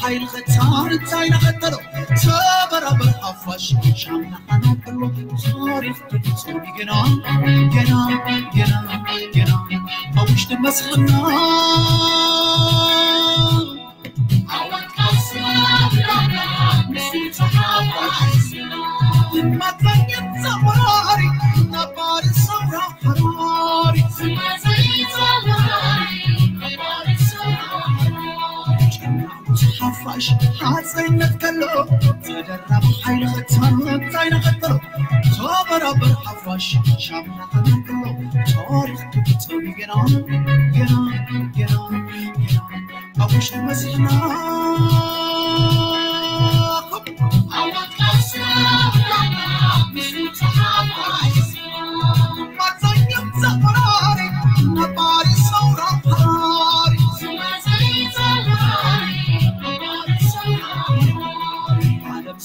ሓይሊ ኸታን እንታይ ናኸተሎ ተበራበር ሓፋሽ ሻምና ኣናቅሎ ታሪኽ ክፍጸም ገና ገና ገና ገና ኣብ ውሽጢ መስልና ሓፋሽ ሓፀይነት ከሎ ተደራቢ ሓይሊ ኸታን እንታይ ናኸተሎ ተበራበር ሓፋሽ ሻምና ኸነቅሎ ታሪኽ ክፍጸም ገና ገና ገና ገና ኣብ ውሽጢ መሲሕና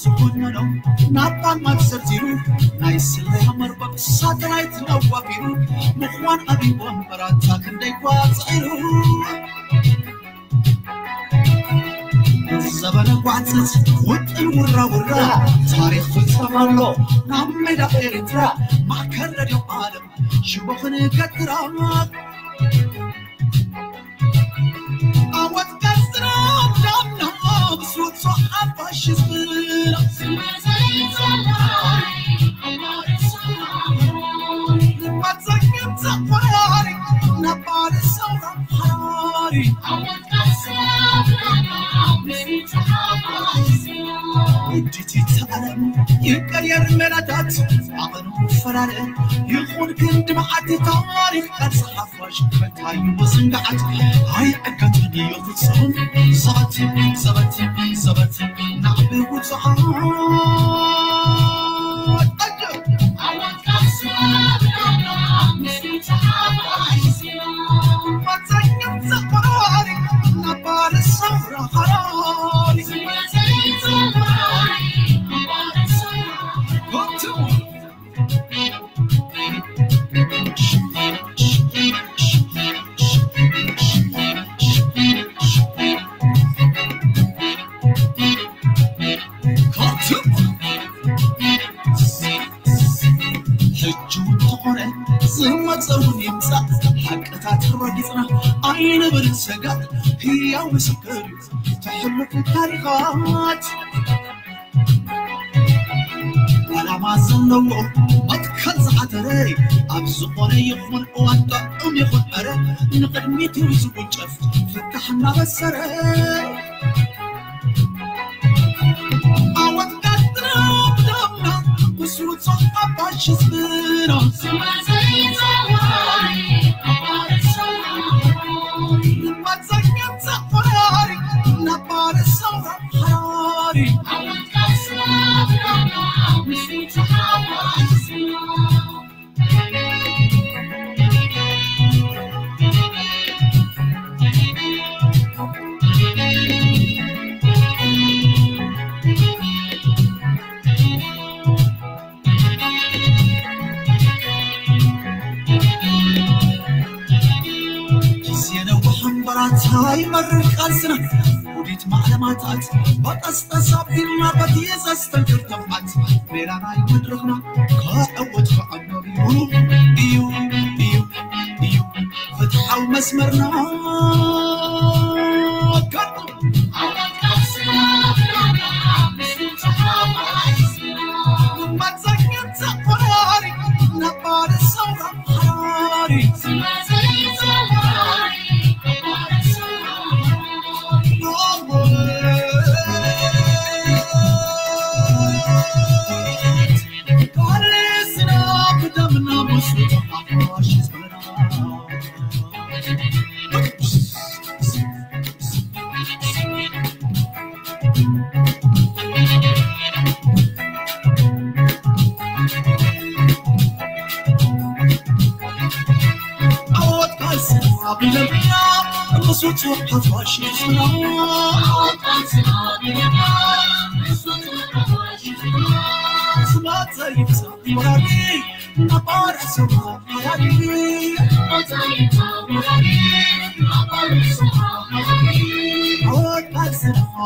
ዝኾነሎም ናባን ማክሰርቲሩ ናይ ስለያ መርበብ ሳተላይት ነዋፊሩ ምዃን ኣቢቦም በራታ ክንደይ ኳፅዒሩ ዘበነ ጓዕፀት ውጥን ውራ ውራ ታሪኽ ፍፀም ኣሎ ናብ ሜዳ ኤርትራ ማእከል ረድዮ ዓለም ሽቦ ክንገትራ ኣወት ቀስራ ዳምና ብስሩት ሓፋሽ ዝብላ ይቀየር መላታት ኣቐኑ ፈራረ ይኹን ክንዲ መዓልቲ ታሪኽ ቃልሲ ሓፋሽ ከታዩ ዝንግዓት ኣይዕገትን እዩ ፍጹም ዘበት ዘበት ዘበት ናዕቢ ውፅዓት ሕጂ እውን ተኾነ ዝመፀ እውን ይምፃእ ሓቅታት ረጊፅና ኣይንብል ሰጋእ ህያው ምስክር እዩ ተሕልፉ ታሪኻት ዓላማ ዘለዎ መትከል ዝሓተረ ኣብ ዝኾነ ይኹን እዋን ጥዑም ይኹን ዕረ ንቕድሚት እዩ ዝጉንጨፍ ፍታሕ እናበሰረ ዓወት ቀጥና ብዳምና ምስ ውፁዕ ሓፋሽ ህዝብና መፀኛ ተቆራሪ ነባር ሰው ሓራሪ ጊዜ ነዊሕ እምበራታ ይመርር ቃልስና ውዲት ማዕለማታት በቀስቀስ ኣቢልና በቲ ዘስተንክር ተብዓት ሜላ ናይ መድረኽና ከዕወት ከዓኖር እዩ እዩ እዩ እዩ ፍትሓዊ መስመርና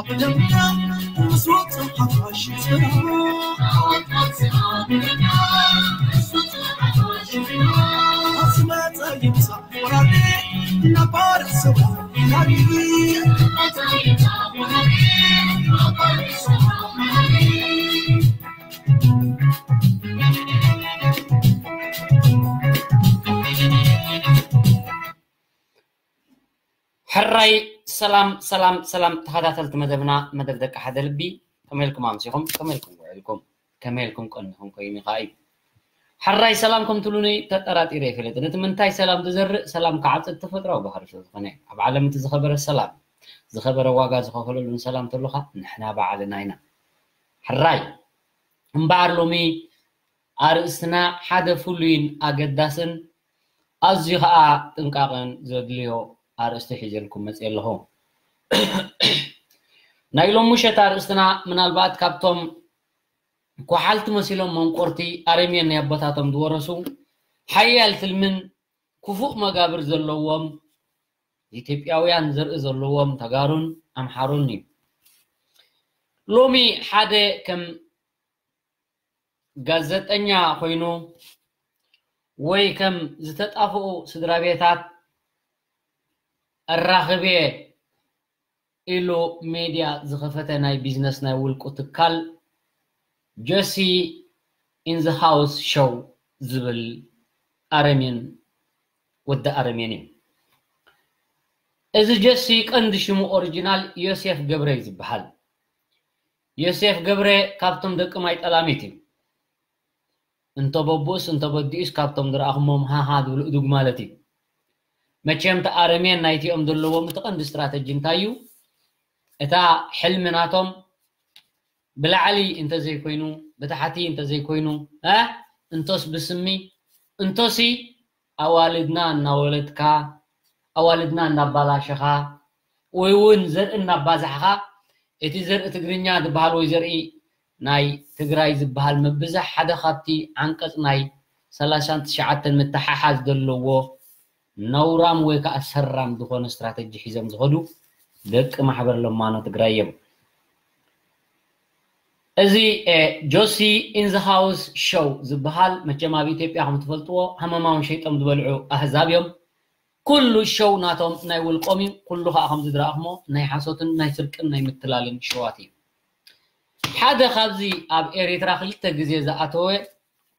ብደምና ምስ ወጽእ ሓፋሽ ስራ ኣስመጸ ይምጻእ ወራሪ ነባር ስራ ወራሪ ሕራይ ሰላም ሰላም ሰላም ተኸታተልቲ መደብና መደብ ደቂ ሓደ ልቢ ከመይ ኢልኩም ኣምሲኹም ከመይ ኢልኩም ውዒልኩም ከመይ ኢልኩም ቀኒኹም ኮይኑ ይኸዓ እዩ። ሕራይ ሰላም ከም ትብሉኒ ተጠራጢረ ኣይፈልጥን። እቲ ምንታይ ሰላም ዝዘርእ ሰላም ክዓጽድ ተፈጥራዊ ባህሪ ስለ ዝኾነ ኣብ ዓለም እቲ ዝኸበረ ሰላም ዝኸበረ ዋጋ ዝኸፈለሉን ሰላም ተሎኻ ንሕና ባዕልና ኢና። ሕራይ እምበኣር ሎሚ ኣርእስትና ሓደ ፍሉይን ኣገዳስን ኣዝዩ ኸኣ ጥንቃቐን ዘድልዮ ኣርእስቲ ሒዘልኩም መፅየ ኣለኹ። ናይ ሎም ምሸት ኣርእስትና ምናልባት ካብቶም ኳሓልቲ መሲሎም መንቆርቲ ኣረሜን ናይ ኣቦታቶም ዝወረሱ ሓያል ትልምን ክፉእ መጋብር ዘለዎም ኢትዮጵያውያን ዘርኢ ዘለዎም ተጋሩን ኣምሓሩን እዩ። ሎሚ ሓደ ከም ጋዜጠኛ ኮይኑ ወይ ከም ዝተጣፍኡ ስድራ ቤታት ኣራኽብየ ኢሉ ሜድያ ዝኸፈተ ናይ ቢዝነስ ናይ ውልቁ ትካል ጆሲ ኢን ዘ ሃውስ ሾው ዝብል ኣረሜን ወዲ ኣረሜን እዩ። እዚ ጆሲ ቀንዲ ሽሙ ኦሪጂናል ዮሴፍ ገብረ እዩ ዝበሃል። ዮሴፍ ገብረ ካብቶም ደቂ ማይ ጠላሚት እዩ። እንተ በቡእስ እንተ በዲኡስ ካብቶም ዝረኣኹሞም ሃሃ ዝብሉ እዱግ ማለት እዩ። መቸም እቲ ኣረሜን ናይቲኦም ዘለዎም እቲ ቀንዲ ስትራተጂ እንታይ እዩ? እታ ሕልሚ ናቶም ብላዕሊ እንተዘይኮይኑ ብታሕቲ እንተዘይኮይኑ እ እንቶስ ብስሚ እንቶሲ ኣዋልድና እናወለድካ ኣዋልድና እናባላሸኻ ወይ እውን ዘርኢ እናባዛሕኻ እቲ ዘርኢ ትግርኛ ዝበሃል ወይ ዘርኢ ናይ ትግራይ ዝበሃል ምብዛሕ ሓደ ካብቲ ዓንቀፅ ናይ ሰላሳን ትሽዓተን ምትሓሓዝ ዘለዎ ነውራም ወይ ከዓ ሰራም ዝኾነ ስትራተጂ ሒዞም ዝኸዱ ደቂ ማሕበር ለማኖ ትግራይ እዮም። እዚ ጆሲ ኢን ዘ ሃውስ ሾው ዝበሃል መቸም ኣብ ኢትዮጵያ ከም ትፈልጥዎ ሃመማውን ሸይጦም ዝበልዑ ኣህዛብ እዮም። ኩሉ ሾው ናቶም ናይ ውልቆም እዩ። ኩሉ ከዓ ከም ዝድረኣኹሞ ናይ ሓሶትን ናይ ስርቅን ናይ ምትላልን ሾዋት እዩ። ሓደ ካብዚ ኣብ ኤሪትራ ክልተ ግዜ ዝኣተወ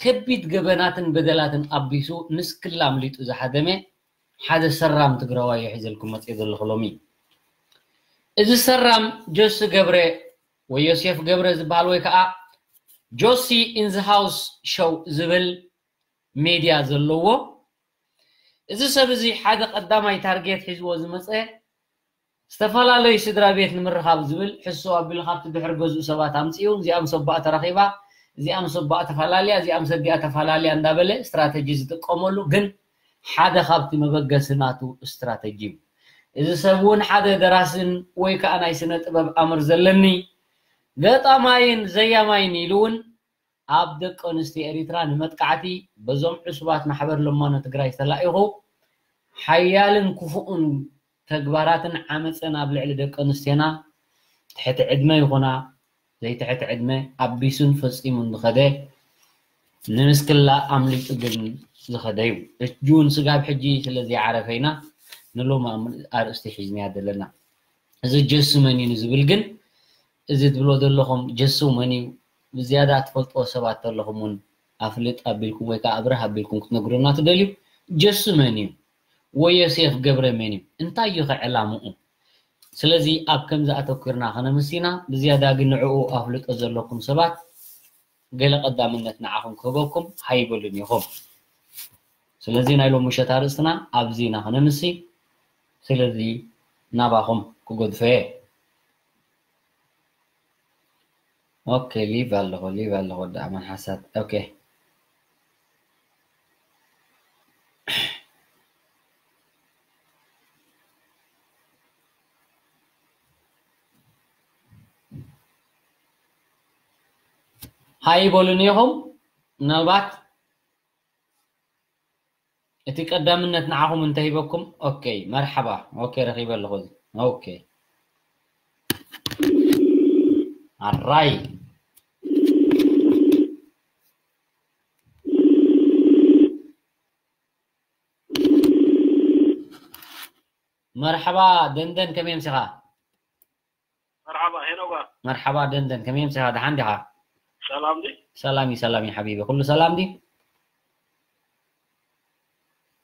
ከቢድ ገበናትን በደላትን ኣቢሱ ንስክላ ኣምሊጡ ዝሃደመ ሓደ ሰራም ትግራዋይ እዩ ሒዘልኩም መፅየ ዘለኹ ሎሚ። እዚ ሰራም ጆሲ ገብረ ወይ ዮሴፍ ገብረ ዝበሃል ወይ ከዓ ጆሲ ኢን ዘ ሃውስ ሾው ዝብል ሜድያ ዘለዎ እዚ ሰብ እዚ ሓደ ቀዳማይ ታርጌት ሒዝዎ ዝመፀ ዝተፈላለዩ ስድራ ቤት ንምርኻብ ዝብል ሕስው ኣቢሉ ካብቲ ድሕሪ ገዝኡ ሰባት ኣምፂኡ እዚኣ ምስ ኣቦኣ ተራኺባ እዚኣ ምስ ኣቦኣ ተፈላለያ እዚኣ ምስ ኣዲኣ ተፈላለያ እንዳበለ ስትራተጂ ዝጥቀመሉ ግን ሓደ ካብቲ መበገሲ ናቱ ስትራተጂ እዩ። እዚ ሰብ እውን ሓደ ደራስን ወይ ከዓ ናይ ስነ ጥበብ ኣምር ዘለኒ ገጣማይን ዘያማይን ኢሉ እውን ኣብ ደቂ ኣንስትዮ ኤሪትራ ንመጥቃዕቲ በዞም ዕሱባት ማሕበር ለማኖ ትግራይ ተላኢኹ ሓያልን ክፉእን ተግባራትን ዓመፅን ኣብ ልዕሊ ደቂ ኣንስትዮና ትሕቲ ዕድመ ይኹና ዘይትሕቲ ዕድመ ኣቢሱን ፈፂሙን ዝኸደ ንምስክላ ኣምሊጡ ግን ዝኸደ እዩ። እጁን ስጋብ ሕጂ ስለ ዘይዓረፈ ኢና ንሎም ኣርእስቲ ሒዝናያ ዘለና። እዚ ጀሱ መን እዩ ዝብል ግን እዚ ትብሎ ዘለኹም ጀሱ መን እዩ ብዝያዳ ትፈልጥዎ ሰባት ተለኹም እውን ኣፍልጥ ኣቢልኩም ወይ ከዓ ኣብርህ ኣቢልኩም ክትነግሩና ትደልዩ። ጀሱ መን እዩ ወይ ዮሴፍ ገብረ መን እዩ እንታይ እዩ ከዕላምኡ? ስለዚ ኣብ ከምዚ ኣተኲርና ከነምሲና ብዝያዳ ግን ንዕኡ ኣፍልጦ ዘለኩም ሰባት ገለ ቀዳምነት ንዓኹም ክህበኩም ሃይበሉን ኢኹም። ስለዚ ናይ ሎም ምሸት ኣርእስትና ኣብዚ ኢና ከነምሲ። ስለዚ ናባኹም ክገድፎ እየ። ኦኬ ሊቭ ኣለኹ ሊቭ ኣለኹ ወዲ ኣማን ሓሳት ኦኬ። ሃይ በሉኒ ኢኹም። ምናልባት እቲ ቀዳምነት ንዓኹም እንተሂበኩም። ኦኬ መርሓባ። ኦኬ ረኺበ ኣለኹ እዚ። ኦኬ ኣራይ። መርሓባ ደንደን፣ ከመይ ኣምሲኻ? መርሓባ ሄኖጋ። መርሓባ ደንደን፣ ከመይ ኣምሲኻ? ደሓን ዲኻ? ሰላም ዲ? ሰላም እዩ፣ ሰላም እዩ ሓቢቢ። ኩሉ ሰላም ዲ?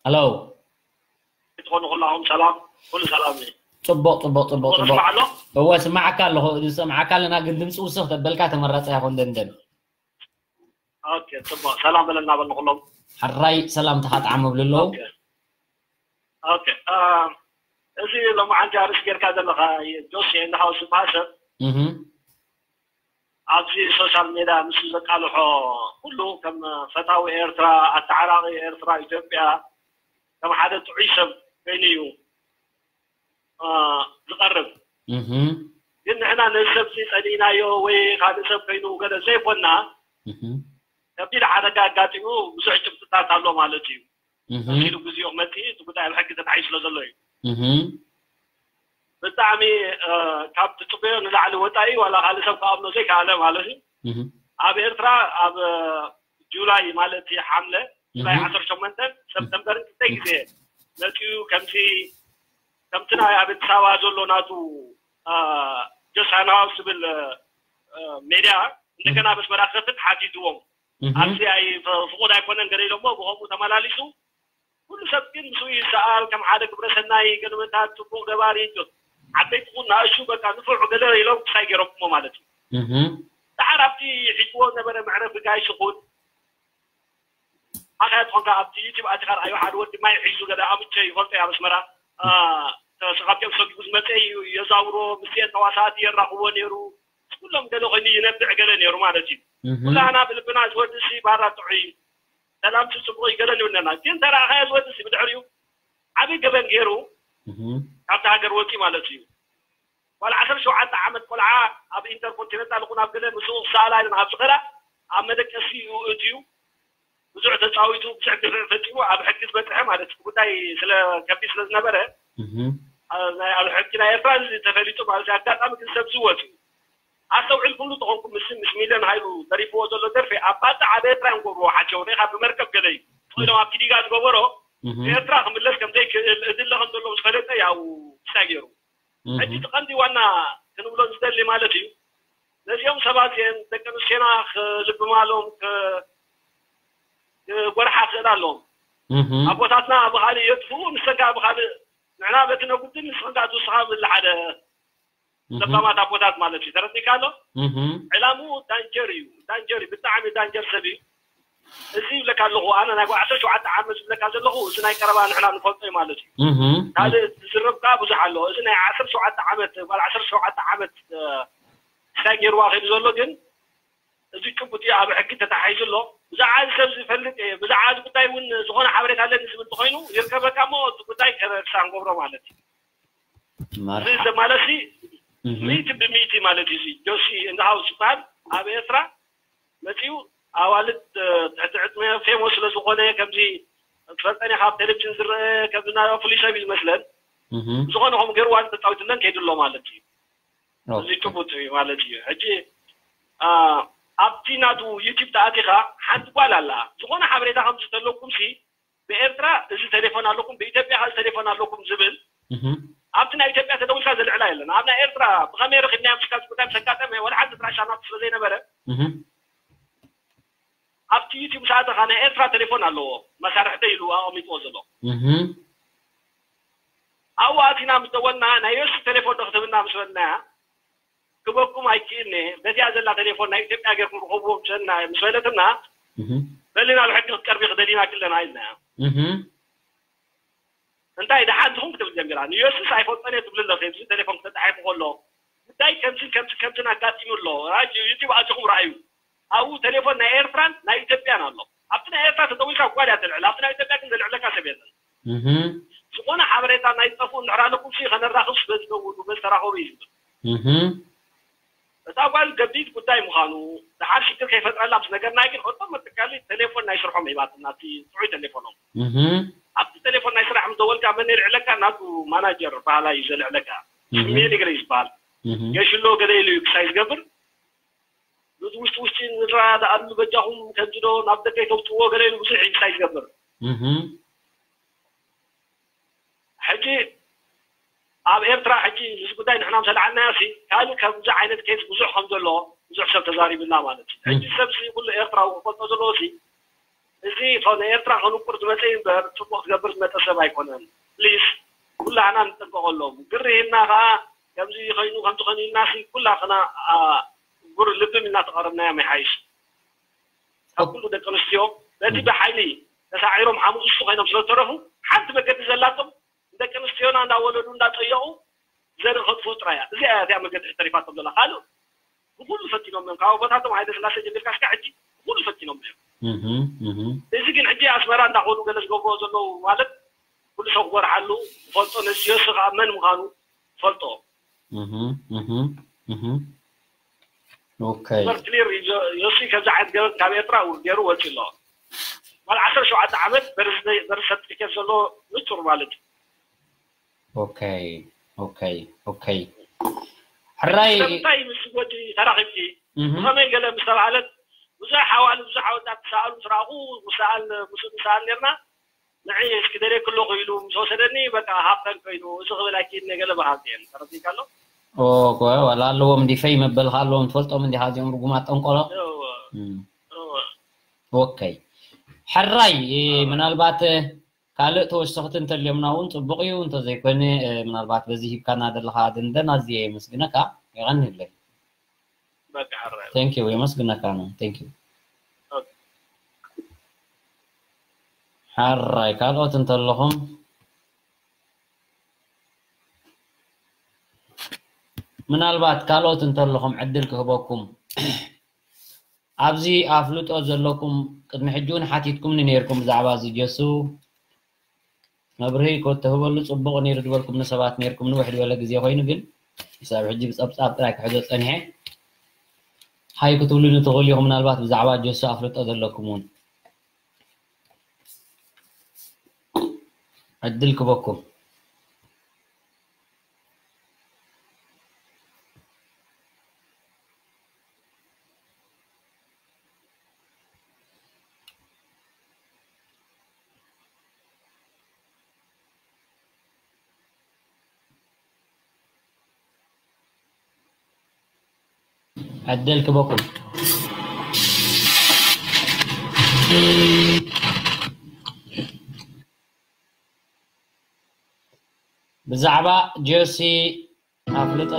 ሄሎ። ትኾኑ ኩላኹም ሰላም? ኩሉ ሰላም እዩ። ጽቡቕ፣ ጽቡቕ፣ ጽቡቕ፣ ጽቡቕ። ስማዕ ኣሎ? እወ፣ ስማዓካ ኣለኹ። ዝሰምዓካ ኣለና፣ ግን ድምፂ ውስኽ ተበልካ ተመራፂ ኣይኾን ደንደን። ኦኬ፣ ጽቡቕ። ሰላም በለና በል ንኹሎም። ሕራይ ሰላምታኻ ጣዕም ኣብሉ ኣለዉ። ኦኬ። ኦኬ፣ አ፣ እዚ ሎማዓንቲ ኣርእስቲ ጌርካ ዘለኻ ጆሲ ኤንድ ሃውስ ዝበሃል ሰብ እህ። ኣብዚ ሶሻል ሜድያ ንሱ ዘቃልሖ ኩሉ ከም ፈታዊ ኤርትራ፣ ኣተዓራቒ ኤርትራ፣ ኢትዮጵያ ከም ሓደ ጥዑይ ሰብ ኮይኑ እዩ፣ አ፣ ዝቐርብ። እህ። ግን ንሕና ነዚ ሰብ እዚ ጸሊእናዮ ወይ ካልእ ሰብ ኮይኑ ገለ ዘይኮና፣ እህ። ከቢድ ሓደጋ ኣጋጢሙ ብዙሕ ጭብጥታት ኣሎ ማለት እዩ። እህ። መሲሉ ግዜኡ ክመጽእ እቲ ጉዳይ ኣብ ሕጊ ተታሒዙ ስለ ዘሎ እዩ። እህ። ብጣዕሚ፣ እ፣ ካብ ትጽበዮ ንላዕሊ ወጻኢ ዋላ ካልእ ሰብ ክኣምኖ ዘይከኣለ ማለት እዩ። እህ። ኣብ ኤርትራ ኣብ፣ እ፣ ጁላይ ማለት እዩ ሓምለ፣ ጁላይ እህ። ዓሰርተ ሸሞንተ፣ ሰፕተምበርን ክልተ ግዜ መጺኡ ከምዚ፣ ከምቲ ናይ ኣብ ኣዲስ ኣበባ ዘሎ ናቱ፣ እ፣ ጆሲ ኤንድ ሃውስ ዝብል፣ እ፣ ሜድያ እንደገና ኣብ ኣስመራ ክኸፍት ሓቲትዎም። እህ። ኣብዚ ኣይ-፣ ፍ-፣ ፍቑድ ኣይኮነን ገለ ኢሎሞ ብኸምኡ ተመላሊሱ ኩሉ ሰብ ግን ምስኡ ይሰኣል፣ ከም ሓደ ግብረ ሰናይ ገለመታት ጽቡቕ ገባሪ፣ ዓበይቲ ኹን ንኣሽቱ በቃ ንፉዕ ገለ ኢሎም ክሳይ ገይሮምዎ ማለት እዩ። እህ። ደሓር ኣብቲ ሒዝዎ ዝነበረ መዕረፊ ጋይስ ኹን ኣኸያ ትኾንካ ኣብቲ ዩቲብ ኣቲኻ ርኣዮ፣ ሓደ ወዲ ማይ ሒዙ ገለ ኣምቸ ይፈልጦ ኣብ ኣስመራ፣ አ፣ ተ-፣ ካብቲኦም ሰጊጉ ዝመጸ እዩ፣ የዛውሮ፣ ምስኤን ተዋሳእቲ የራኽቦ ነይሩ። ኩሎም ገለ ኮይኑ ይነብዕ ገለ ነይሩ ማለት እዩ። እህ። ኩላህና ብልብና እዚ ወዲ እዚ ባራ ጥዑይ እዩ። ሰላም ጽቡቕ እዩ ገለ ንብል ነና። ግን ተረኣኻዮ እዚ ወዲ እዚ ብድሕሪኡ ዓቢ ገበን ገይሩ እህ። ካብቲ ሃገር ወጺኡ ማለት እዩ። ዋላ ዓሰርተ ሸውዓተ ዓመት ቆልዓ ኣብ ኢንተርኮንቲነንታል ይኹን ኣብ ገለ ምስኡ ክሰኣላ ኢለን ኣብ ዝኸዳ ኣብ መደቀሲ እዩ እትዩ። ብዙሕ ተጻዊቱ፣ ብዙሕ ግፍዒ ፈጺሙ ኣብ ሕጊ ዝበጽሐ ማለት እዩ። ጉዳይ ስለ ከቢድ ስለ ዝነበረ እህ። አ-፣ ናይ ኣብ ሕጊ ናይ ኤርትራ እዚ ተፈሊጡ ማለት እዩ። ኣጋጣሚ ግን ሰብ ዝወት እዩ። ኣስተውዒልኩምሉ ተኾንኩም ምስ፣ ምስ ሚልዮን ሃይሉ ዘሪፍዎ ዘሎ ደርፊ ኣብ ባጽዕ ኣብ ኤርትራ እዮም ክገብርዎ ሓቸው። ሪኢኻ ብመርከብ ገለ እዩ። ኢሎም ኣብቲ ዲጋ ዝገበሮ እህ። ኤርትራ ክምለስ ከም ዘይክእል እድለ ከም ዘለዎ ምስ ፈለጠ ያው እንታይ ገይሩ። እህ። ሕጂ እቲ ቀንዲ ዋና ክንብሎ ዝደሊ ማለት እዩ። ነዚኦም ሰባት እዚኦም ደቂ ኣንስትዮና ክልብማሎም ክ-፣ ክጎርሓ ክእል ኣለዎም። እህ። ኣቦታትና ብኻልእ የጥፍኡ፣ ንሰን ከኣ ብኻልእ ንሕና በቲ ነጉድል ንስኽን ከኣ ትውስኻ ዝብል ሓደ እህ። ለባማት ኣቦታት ማለት እዩ። ተረዲእካ ኣሎ? እህ። ዕላምኡ ዳንጀር እዩ። ዳንጀር እዩ። ብጣዕሚ ዳንጀር ሰብ እዩ። እዚ ይብለካ ኣለኹ፣ ኣነ ናይ ጓል ዓሰርተ ሸውዓተ ዓመት ዝብለካ ዘለኹ፣ እዚ ናይ ቀረባ ንሕና ንፈልጦ እዩ ማለት እዩ። እህ። ካልእ ዝዝረብ ከኣ ብዙሕ ኣሎ። እዚ ናይ ዓሰርተ ሸውዓተ ዓመት፣ ጓል ዓሰርተ ሸውዓተ ዓመት፣ እ፣ እንታይ ገይርዋ ከይዱ ዘሎ ግን፣ እዚ ጭቡጥ እዩ፣ ኣብ ሕጊ ተታሒዙ ኣሎ። ብዛዕባ እዚ ሰብ ዝፈልጥ እየ፣ ብዛዕባ እዚ ጉዳይ እውን ዝኾነ ሓበሬታ ኣለኒ ዝብል እንተኾይኑ፣ ይርከበካ እሞ፣ እቲ ጉዳይ ከ-፣ ክሳብ ንገብሮ ማለት እዩ። መርሓ-፣ እዚ ማለት ሲ እህ። ሚእቲ ብሚእቲ ማለት እዩ። እዚ ጆሲ እንደ ሃውስ ዝበሃል ኣብ ኤርትራ መጺኡ ኣዋልድ፣ እ፣ ትሕቲ ዕድመ ፌሞስ ስለ ዝኾነ ከምዚ ትፈልጠን ኢኻ ኣብ ቴሌቪዥን ዝረአ ከምዚ ናይ ፍሉይ ሰብ እዩ ዝመስለን። እህ። ዝኾነ ከምኡ ገይሩ ዋን ተጻዊትለን ከይዱ ኣሎ ማለት እዩ። ኦኬ። እዚ ጭቡጥ እዩ ማለት እዩ። ሕጂ፣ አ፣ ኣብቲ ናቱ ዩቲዩብ ተኣቲኻ ሓንቲ ጓል ኣላ። ዝኾነ ሓበሬታ ከምዚ ተለኩም ሲ ብኤርትራ እዚ ቴሌፎን ኣለኩም፣ ብኢትዮጵያ እዚ ቴሌፎን ኣለኩም ዝብል እህ። ኣብቲ ናይ ኢትዮጵያ ተደዊልካ ዘልዕላ የለን። ኣብ ናይ ኤርትራ ብኸመይ ረኺብናዮም እስካ እዚ ጉዳይ ምስ ኣጋጠመ ወላ ሓንቲ ኣድራሻ ናቱ ስለ ዘይነበረ እህ። ኣብቲ ዩቲዩብ ምስ ኣተኻ ናይ ኤርትራ ቴሌፎን ኣለዎ፣ መሳርሕተይ ኢሉ ኣቐሚጥዎ ዘሎ። እህ። ኣብኡ ኣቲና ምስ ደወልና ናይ ዮሲ ቴሌፎን ዶ ክትህብና ምስ በልናያ ክበኩም ኣይክእልኒ፣ በዚኣ ዘላ ቴሌፎን ናይ ኢትዮጵያ ጌርኩም ርኸብዎ ምስ በልና፣ ምስ በለትና እህ። በሊ ናብ ሕጊ ክትቀርቢ ክደሊና ክለና ኢልናያ። እህ። እንታይ ደሓን ትኹን ክትብል ጀሚራ። ንዮስስ ኣይፈልጦን እየ ትብል ኣለኺ፣ እዚ ቴሌፎን ክተጣሒፉ ከሎ። ጉዳይ ከምዝን ከምዝን ከምዝን ኣጋጢሙ ኣሎ። ራጅ-፣ ዩቲዩብ ኣቲኹም ረኣዩ። ኣብኡ ቴሌፎን ናይ ኤርትራን ናይ ኢትዮጵያን ኣሎ። ኣብቲ ናይ ኤርትራ ተደዊልካ ጓል እያ ተልዕል፣ ኣብቲ ናይ ኢትዮጵያ ግን ዘልዕለካ ሰብ የለን። እህ። ዝኾነ ሓበሬታ ናይ ጠፍኡ እንድሕር ኣለኩም ሲ ከነራኽብ በዚ ደውሉ፣ በዚ ተራኸቡ እዩ ዝብል። እህ። እታ ጓል ገቢድ ጉዳይ ምዃኑ፣ ደሓር ሽግር ከይፈጥረላ ምስ ነገርናይ ግን ኦቶማቲካሊ ቴሌፎን ናይ ስርሖም ሂባትና፣ እቲ ጥዑይ ቴሌፎኖም። እህ። ኣብቲ ቴሌፎን ናይ ስራሕ ምስ ደወልካ መን የልዕለካ? ናቱ ማናጀር በሃላይ እዩ ዘልዕለካ። እህ። ሽሜ ንግረ እዩ ዝበሃል። እህ። ገሽሎ ገለ ኢሉ እዩ ክሳይ ዝገብር። ነዚ ውሽጢ ውሽጢ ንረዳድኣሉ በጃኹም፣ ከምዚ ዶ ናብ ደገ ኣይተውፅዎ ገለ ኢሉ ብዙሕ ኢንሳይት ይገብር። ሕጂ ኣብ ኤርትራ ሕጂ እዚ ጉዳይ ንሕና ምስ ኣልዓልናዮ ሲ ካልእ ከምዚ ዓይነት ኬዝ ብዙሕ ከም ዘሎ ብዙሕ ሰብ ተዛሪብና ማለት እዩ። ሕጂ ሰብ ሲ ኩሉ ኤርትራዊ ክፈልጦ ዘለዎ ሲ እዚ ኸ ንኤርትራ ከንቁር ዝመጸ እዩ እምበር ጽቡቕ ክገብር ዝመጸ ሰብ ኣይኮነን። ፕሊስ ኩላህና ንጠንቀቐሎም። ግሪ ሂብና ኸኣ ከምዚ ኮይኑ ከምዚ ኮይኑ ኢልና ሲ ኩላህና አ፣ ጉር ልብም ኢልና ተቐረብናዮም ይሓይሽ። ካብ ኩሉ ደቂ ኣንስትዮ በቲ ብሓይሊ ተሳዒሮም ሓሙስ እሱ ኮይኖም ስለ ዝተረፉ ሓንቲ መገዲ ዘላቶም ንደቂ ኣንስትዮና እንዳወለዱ እንዳጠየቑ ዘርኢ ከጥፍኡ ጥራይ እያ። እዚኣ እያ እዚኣ መገዲ ተሪፋቶም ዘላ። ካልእ ብኹሉ ፈቲኖም እዮም። ካብ ኣቦታቶም ሃይለ ስላሴ ጀሚርካ እስካብ ሕጂ ብኹሉ ፈቲኖም እዮም። እዚ ግን ሕጂ ኣስመራ እንዳኾኑ ገለ ዝገብርዎ ዘለዉ ማለት ኩሉ ሰብ ክጎርሓሉ ዝፈልጦ ነዚ ዮሲ ከዓ መን ምዃኑ ዝፈልጦ ኦኬይ በር ክሊር ዮሲ ከምዚ ዓይነት ገበን ካብ ኤርትራ ውር ገይሩ ወፂ ኣሎ። ዋላ ዓሰርተ ሸውዓተ ዓመት በርስ ሰርቲፊኬት ዘሎ ንፁር ማለት እዩ። ኦኬይ ኦኬይ ኦኬይ ሕራይ ስለምንታይ ምስ ጎጂ ተራኺብኪ ብኸመይ ገለ ምስ ተባህለት ብዙሕ ሓዋሉ ብዙሕ ኣወዳት ክሰኣሉ ምስ ረኣኹ ክሰኣል ምስ ንሰኣል ነርና ንዒ እስኪ ደልየኪ ኣለኹ ኢሉ ምስ ወሰደኒ በቃ ሃብተን ኮይኑ እዚ ክብል ኣይክእልን እየ ገለ በሃልቲ እየን ተረዲእካ ኣሎ ኦኮ ዋላ ኣለዎም ዲፈይ መበልካ ኣለዎም ትፈልጦም እንዲኻ እዚኦም ርጉማት ጠንቆሎ እወ እወ ኦኬ ሕራይ ምናልባት ካልእ ተወሰኽቲ እንተልዮምና እውን ፅቡቕ እዩ እንተዘይኮነ ምናልባት በዚ ሂብካና ዘለኻ ድንደን ኣዝየ የመስግነካ የቐንየለይ በቃ ሕራይ thank you የመስግነካ ነው thank you ሕራይ ካልኦት እንተለኹም ምናልባት ካልኦት እንተለኹም ዕድል ክህበኩም ኣብዚ ኣፍልጦ ዘለኩም ቅድሚ ሕጂ እውን ሓቲትኩምኒ ነይርኩም ብዛዕባ እዚ ጀሱ መብርሂ ከተህበሉ ፅቡቕ ነይሩ ዝበልኩም ንሰባት ነይርኩም ንውሕ ዝበለ ግዜ ኮይኑ ግን ክሳብ ሕጂ ብፀብፃብ ጥራይ ክሕዞ ፀኒሐ ሃይ ክትብሉኒ ትኽእሉ ኢኹም ምናልባት ብዛዕባ ጀሱ ኣፍልጦ ዘለኩም እውን ዕድል ክበኩም ዕድል ክበኩም ብዛዕባ ጆሲ ኣፍልጦ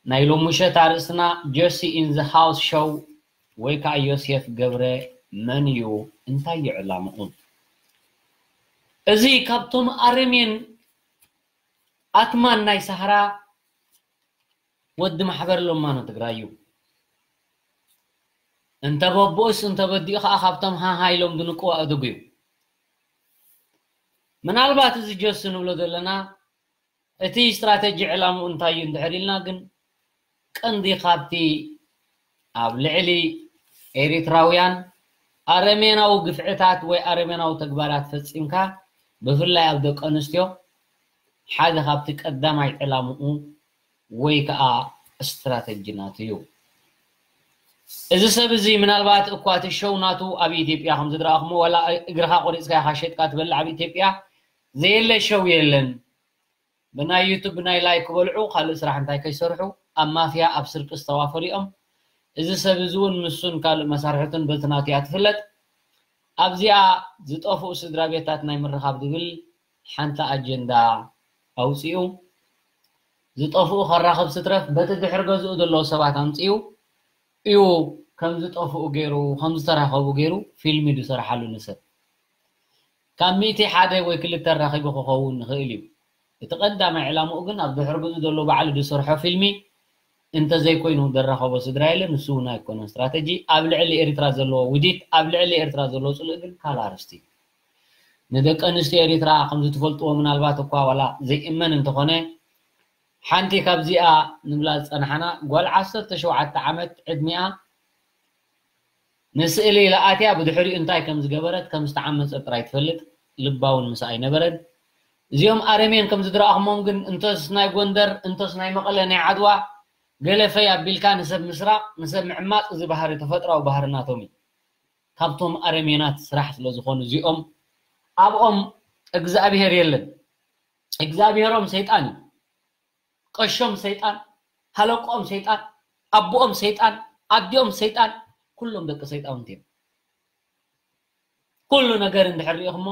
ናይ ሎሚ ምሸት ኣርእስትና ጆሲ ኢን ዘ ሃውስ ሾው ወይ ከዓ ዮሴፍ ገብረ መን እዩ? እንታይ እዩ ዕላምኡ? እዚ ካብቶም ኣረሜን ኣትማን ናይ ሳህራ ወዲ ማሕበር ሎማኖ ትግራይ እዩ። እንተ በብኡስ እንተ በዲኡ ከዓ ካብቶም ሃሃ ኢሎም ዝንቅዋ እድጉ እዩ። ምናልባት እዚ ጆሲ ንብሎ ዘለና እቲ ስትራተጂ ዕላምኡ እንታይ እዩ እንድሕር ኢልና ግን ቀንዲ ካብቲ ኣብ ልዕሊ ኤሪትራውያን ኣረሜናዊ ግፍዕታት ወይ ኣረሜናዊ ተግባራት ፈጺምካ ብፍላይ ኣብ ደቂ ኣንስትዮ ሓደ ካብቲ ቀዳማይ ዕላምኡ ወይ ከዓ ስትራተጂ ናቱ እዩ። እዚ ሰብ እዚ ምናልባት እኳ እቲ ሸው ናቱ ኣብ ኢትዮጵያ ከም ዝድረኣኹሞ ዋላ እግርኻ ቆሪፅካ ኢኻ ሸጥካ ትበልዕ ኣብ ኢትዮጵያ ዘየለ ሸው የለን። ብናይ ዩቱብ ብናይ ላይክ ክበልዑ ካልእ ስራሕ እንታይ ከይሰርሑ ኣብ ማፍያ ኣብ ስርቂ ዝተዋፈሩ እዮም። እዚ ሰብ እዚ እውን ንሱን ካልእ መሳርሕቱን በቲ ናቱ እያ ትፍለጥ። ኣብዚኣ ዝጠፍኡ ስድራ ቤታት ናይ ምርኻብ ዝብል ሓንቲ ኣጀንዳ ኣውፂኡ ዝጠፍኡ ከራኽብ ስትረፍ በቲ ድሕሪ ገዝኡ ዘለዉ ሰባት ኣምፂኡ እዩ ከም ዝጠፍኡ ገይሩ ከም ዝተራኸቡ ገይሩ ፊልሚ ዝሰርሓሉ ንሰብ ካብ ሚእቲ ሓደ ወይ ክልተ ኣራኺቡ ክኸውን ይኽእል እዩ። እቲ ቀዳማይ ዕላምኡ ግን ኣብ ድሕሪ ገዝኡ ዘሎ ባዕሉ ዝሰርሖ ፊልሚ እንተዘይኮይኑ ዘራኸቦ ስድራ የለን። ንሱ እውን ኣይኮነን ስትራተጂ። ኣብ ልዕሊ ኤርትራ ዘለዎ ውዲት፣ ኣብ ልዕሊ ኤርትራ ዘለዎ ፅልእ ግን ካልእ ኣርእስቲ እዩ። ንደቂ ኣንስትዮ ኤርትራ ከምዚ ትፈልጥዎ ምናልባት እኳ ዋላ ዘይእመን እንተኾነ ሓንቲ ካብዚኣ ንብላ ዝፀናሓና ጓል ዓሰርተ ሸውዓተ ዓመት ዕድሚኣ ንስእሊ ኢላ ኣትያ ብድሕሪኡ እንታይ ከም ዝገበረት ከም ዝተዓመፀት ጥራይ ትፈልጥ፣ ልባ እውን ምስኣ ኣይነበረን። እዚኦም ኣረሜን ከም ዝድረኣኹሞም ግን እንተስ ናይ ጎንደር እንተስ ናይ መቐለ ናይ ዓድዋ ገለ ፈይ ኣቢልካ ንሰብ ምስራቕ ንሰብ ምዕማፅ እዚ ባህሪ ተፈጥራዊ ባህሪ ናቶም እዩ። ካብቶም ኣረሜናት ስራሕ ስለ ዝኾኑ እዚኦም ኣብኦም እግዚኣብሄር የለን። እግዚኣብሄሮም ሰይጣን እዩ። ቀሾም ሰይጣን፣ ሃለቆም ሰይጣን፣ ኣቦኦም ሰይጣን፣ ኣዲኦም ሰይጣን፣ ኩሎም ደቂ ሰይጣውንቲ እዮም። ኩሉ ነገር እንድሕር ሪኢኹሞ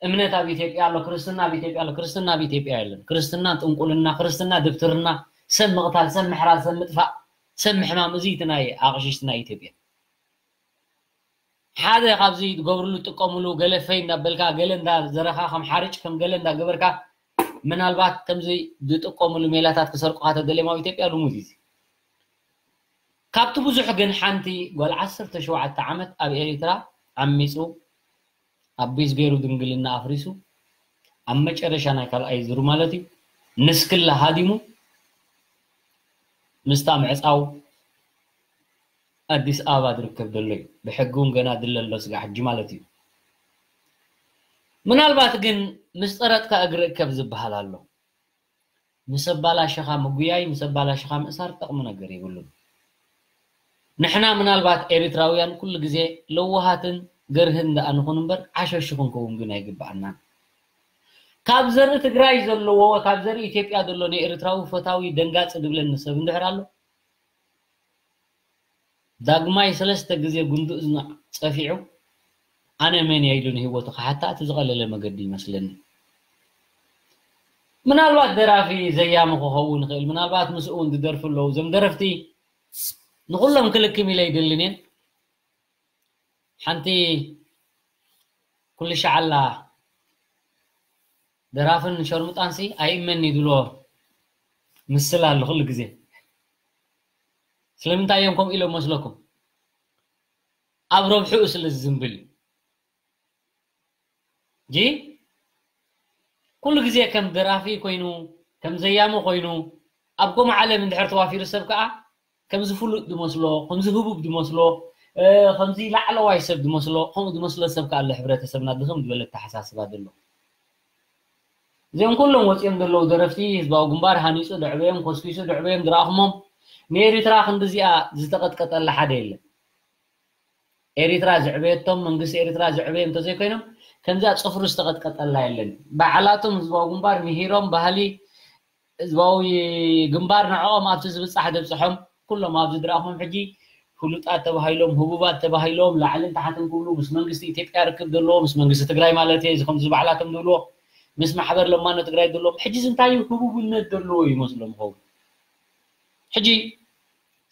እምነት ኣብ ኢትዮጵያ ኣሎ፣ ክርስትና ኣብ ኢትዮጵያ ኣሎ፣ ክርስትና ኣብ ኢትዮጵያ የለን። ክርስትና ጥንቁልና፣ ክርስትና ድብትርና፣ ሰብ ምቕታል፣ ሰብ ምሕራድ፣ ሰብ ምጥፋእ፣ ሰብ ምሕማም፣ እዚ እቲ ናይ ኣቕሽሽቲ ናይ ኢትዮጵያ። ሓደ ካብዚ ትገብርሉ ትጥቀምሉ ገለ ፈይ እንዳበልካ ገለ እንዳዘረኻ ከም ሓርጭ ከም ገለ እንዳገበርካ ምናልባት ከምዚ ዝጥቀምሉ ሜላታት ክሰርቁኻ ተደልዮም ኣብ ኢትዮጵያ ልሙድ እዩ። ካብቲ ብዙሕ ግን ሓንቲ ጓል ዓሰርተ ሸውዓተ ዓመት ኣብ ኤሪትራ ዓሚፁ ኣቢዝ ገይሩ ድንግልና ኣፍሪሱ ኣብ መጨረሻ ናይ ካልኣይ ዙር ማለት እዩ ንስክላ ሃዲሙ ምስታ ምዕፃው ኣዲስ ኣበባ ዝርከብ ዘሎ እዩ። ብሕጊ እውን ገና ድለ ኣሎ ስጋዕ ሕጂ ማለት እዩ። ምናልባት ግን ምስ ጠረጥካ እግሪ እከብ ዝበሃል ኣሎ። ምስ ኣባላሸኻ ምጉያይ ምስ ኣባላሸኻ ምእሳር ጠቕሚ ነገር የብሉን። ንሕና ምናልባት ኤሪትራውያን ኩሉ ግዜ ለዋሃትን ገርህን ደኣ ንኹን እምበር ዓሸሹ ክንከውን ግን ኣይግብኣናን። ካብ ዘርኢ ትግራይ ዘለዎ ካብ ዘርኢ ኢትዮጵያ ዘሎ ንኤርትራዊ ፈታዊ ደንጋፂ ድብለኒ ሰብ እንድሕር ኣሎ ዳግማይ ሰለስተ ግዜ ጉንዲ እዝኑ ፀፊዑ ኣነ መን እየ ኢሉ ንህይወቱ ክሓታ እቲ ዝቐለለ መገዲ ይመስለኒ። ምናልባት ደራፊ ዘያሚ ክኸውን ይኽእል፣ ምናልባት ምስኡ እውን ዝደርፉ ኣለዉ። እዞም ደረፍቲ ንኹሎም ክልክም ኢለ ኣይደልን እየ። ሓንቲ ኩሉ ሻዓላ ደራፍን ሸርሙጣንሲ ኣይእመን እዩ ዝብሎ ምስል ኣሎ ኩሉ ግዜ። ስለምንታይ እዮም ከምኡ ኢሎም መስለኩም? ኣብ ረብሕኡ ስለ ዝዝንብል እዩ። ጂ ኩሉ ግዜ ከም ደራፊ ኮይኑ ከም ዘያሚ ኮይኑ ኣብ ከምኡ ዓለም እንድሕር ተዋፊሩ ሰብ ከዓ ከምዚ ፍሉጥ ዝመስሎ ከምዚ ህቡብ ዝመስሎ ከምዚ ላዕለዋይ ሰብ ዝመስሎ ከምኡ ዝመስሎ ሰብ ከዓ ኣሎ። ሕብረተሰብና ድኽም ዝበለ ኣተሓሳስባ ዘሎ። እዚኦም ኩሎም ወፂኦም ዘለዉ ደረፍቲ ህዝባዊ ግንባር ሃኒፁ ደዕበዮም ኮስኪሱ ደዕበዮም ዝረኣኹሞም ንኤሪትራ ክንዲዚኣ ዝተቐጥቀጠላ ሓደ የለን። ኤሪትራ ዝዕበየቶም መንግስቲ ኤሪትራ ዝዕበየ እንተዘይኮይኖም ከምዚኣ ፅፍሩ ዝተቐጥቀጠላ የለን። ባዕላቶም ህዝባዊ ግንባር ምሂሮም ባህሊ ህዝባዊ ግንባር ንዕኦም ኣብቲ ዝብፃሕ ደብፅሖም ኩሎም ኣብዚ ዝረኣኹም ሕጂ ፍሉጣት ተባሂሎም ህቡባት ተባሂሎም ላዕልን ታሕትን ክብሉ ምስ መንግስቲ ኢትዮጵያ ርክብ ዘለዎ ምስ መንግስቲ ትግራይ ማለት እየ እዚ ከምዚ ባዕላቶም ዝብልዎ ምስ ማሕበር ለማኖ ትግራይ ዘለዎም ሕጂ እዚ እንታይ እዩ ህቡብነት ዘለዎ ይመስሎም ይኸውን። ሕጂ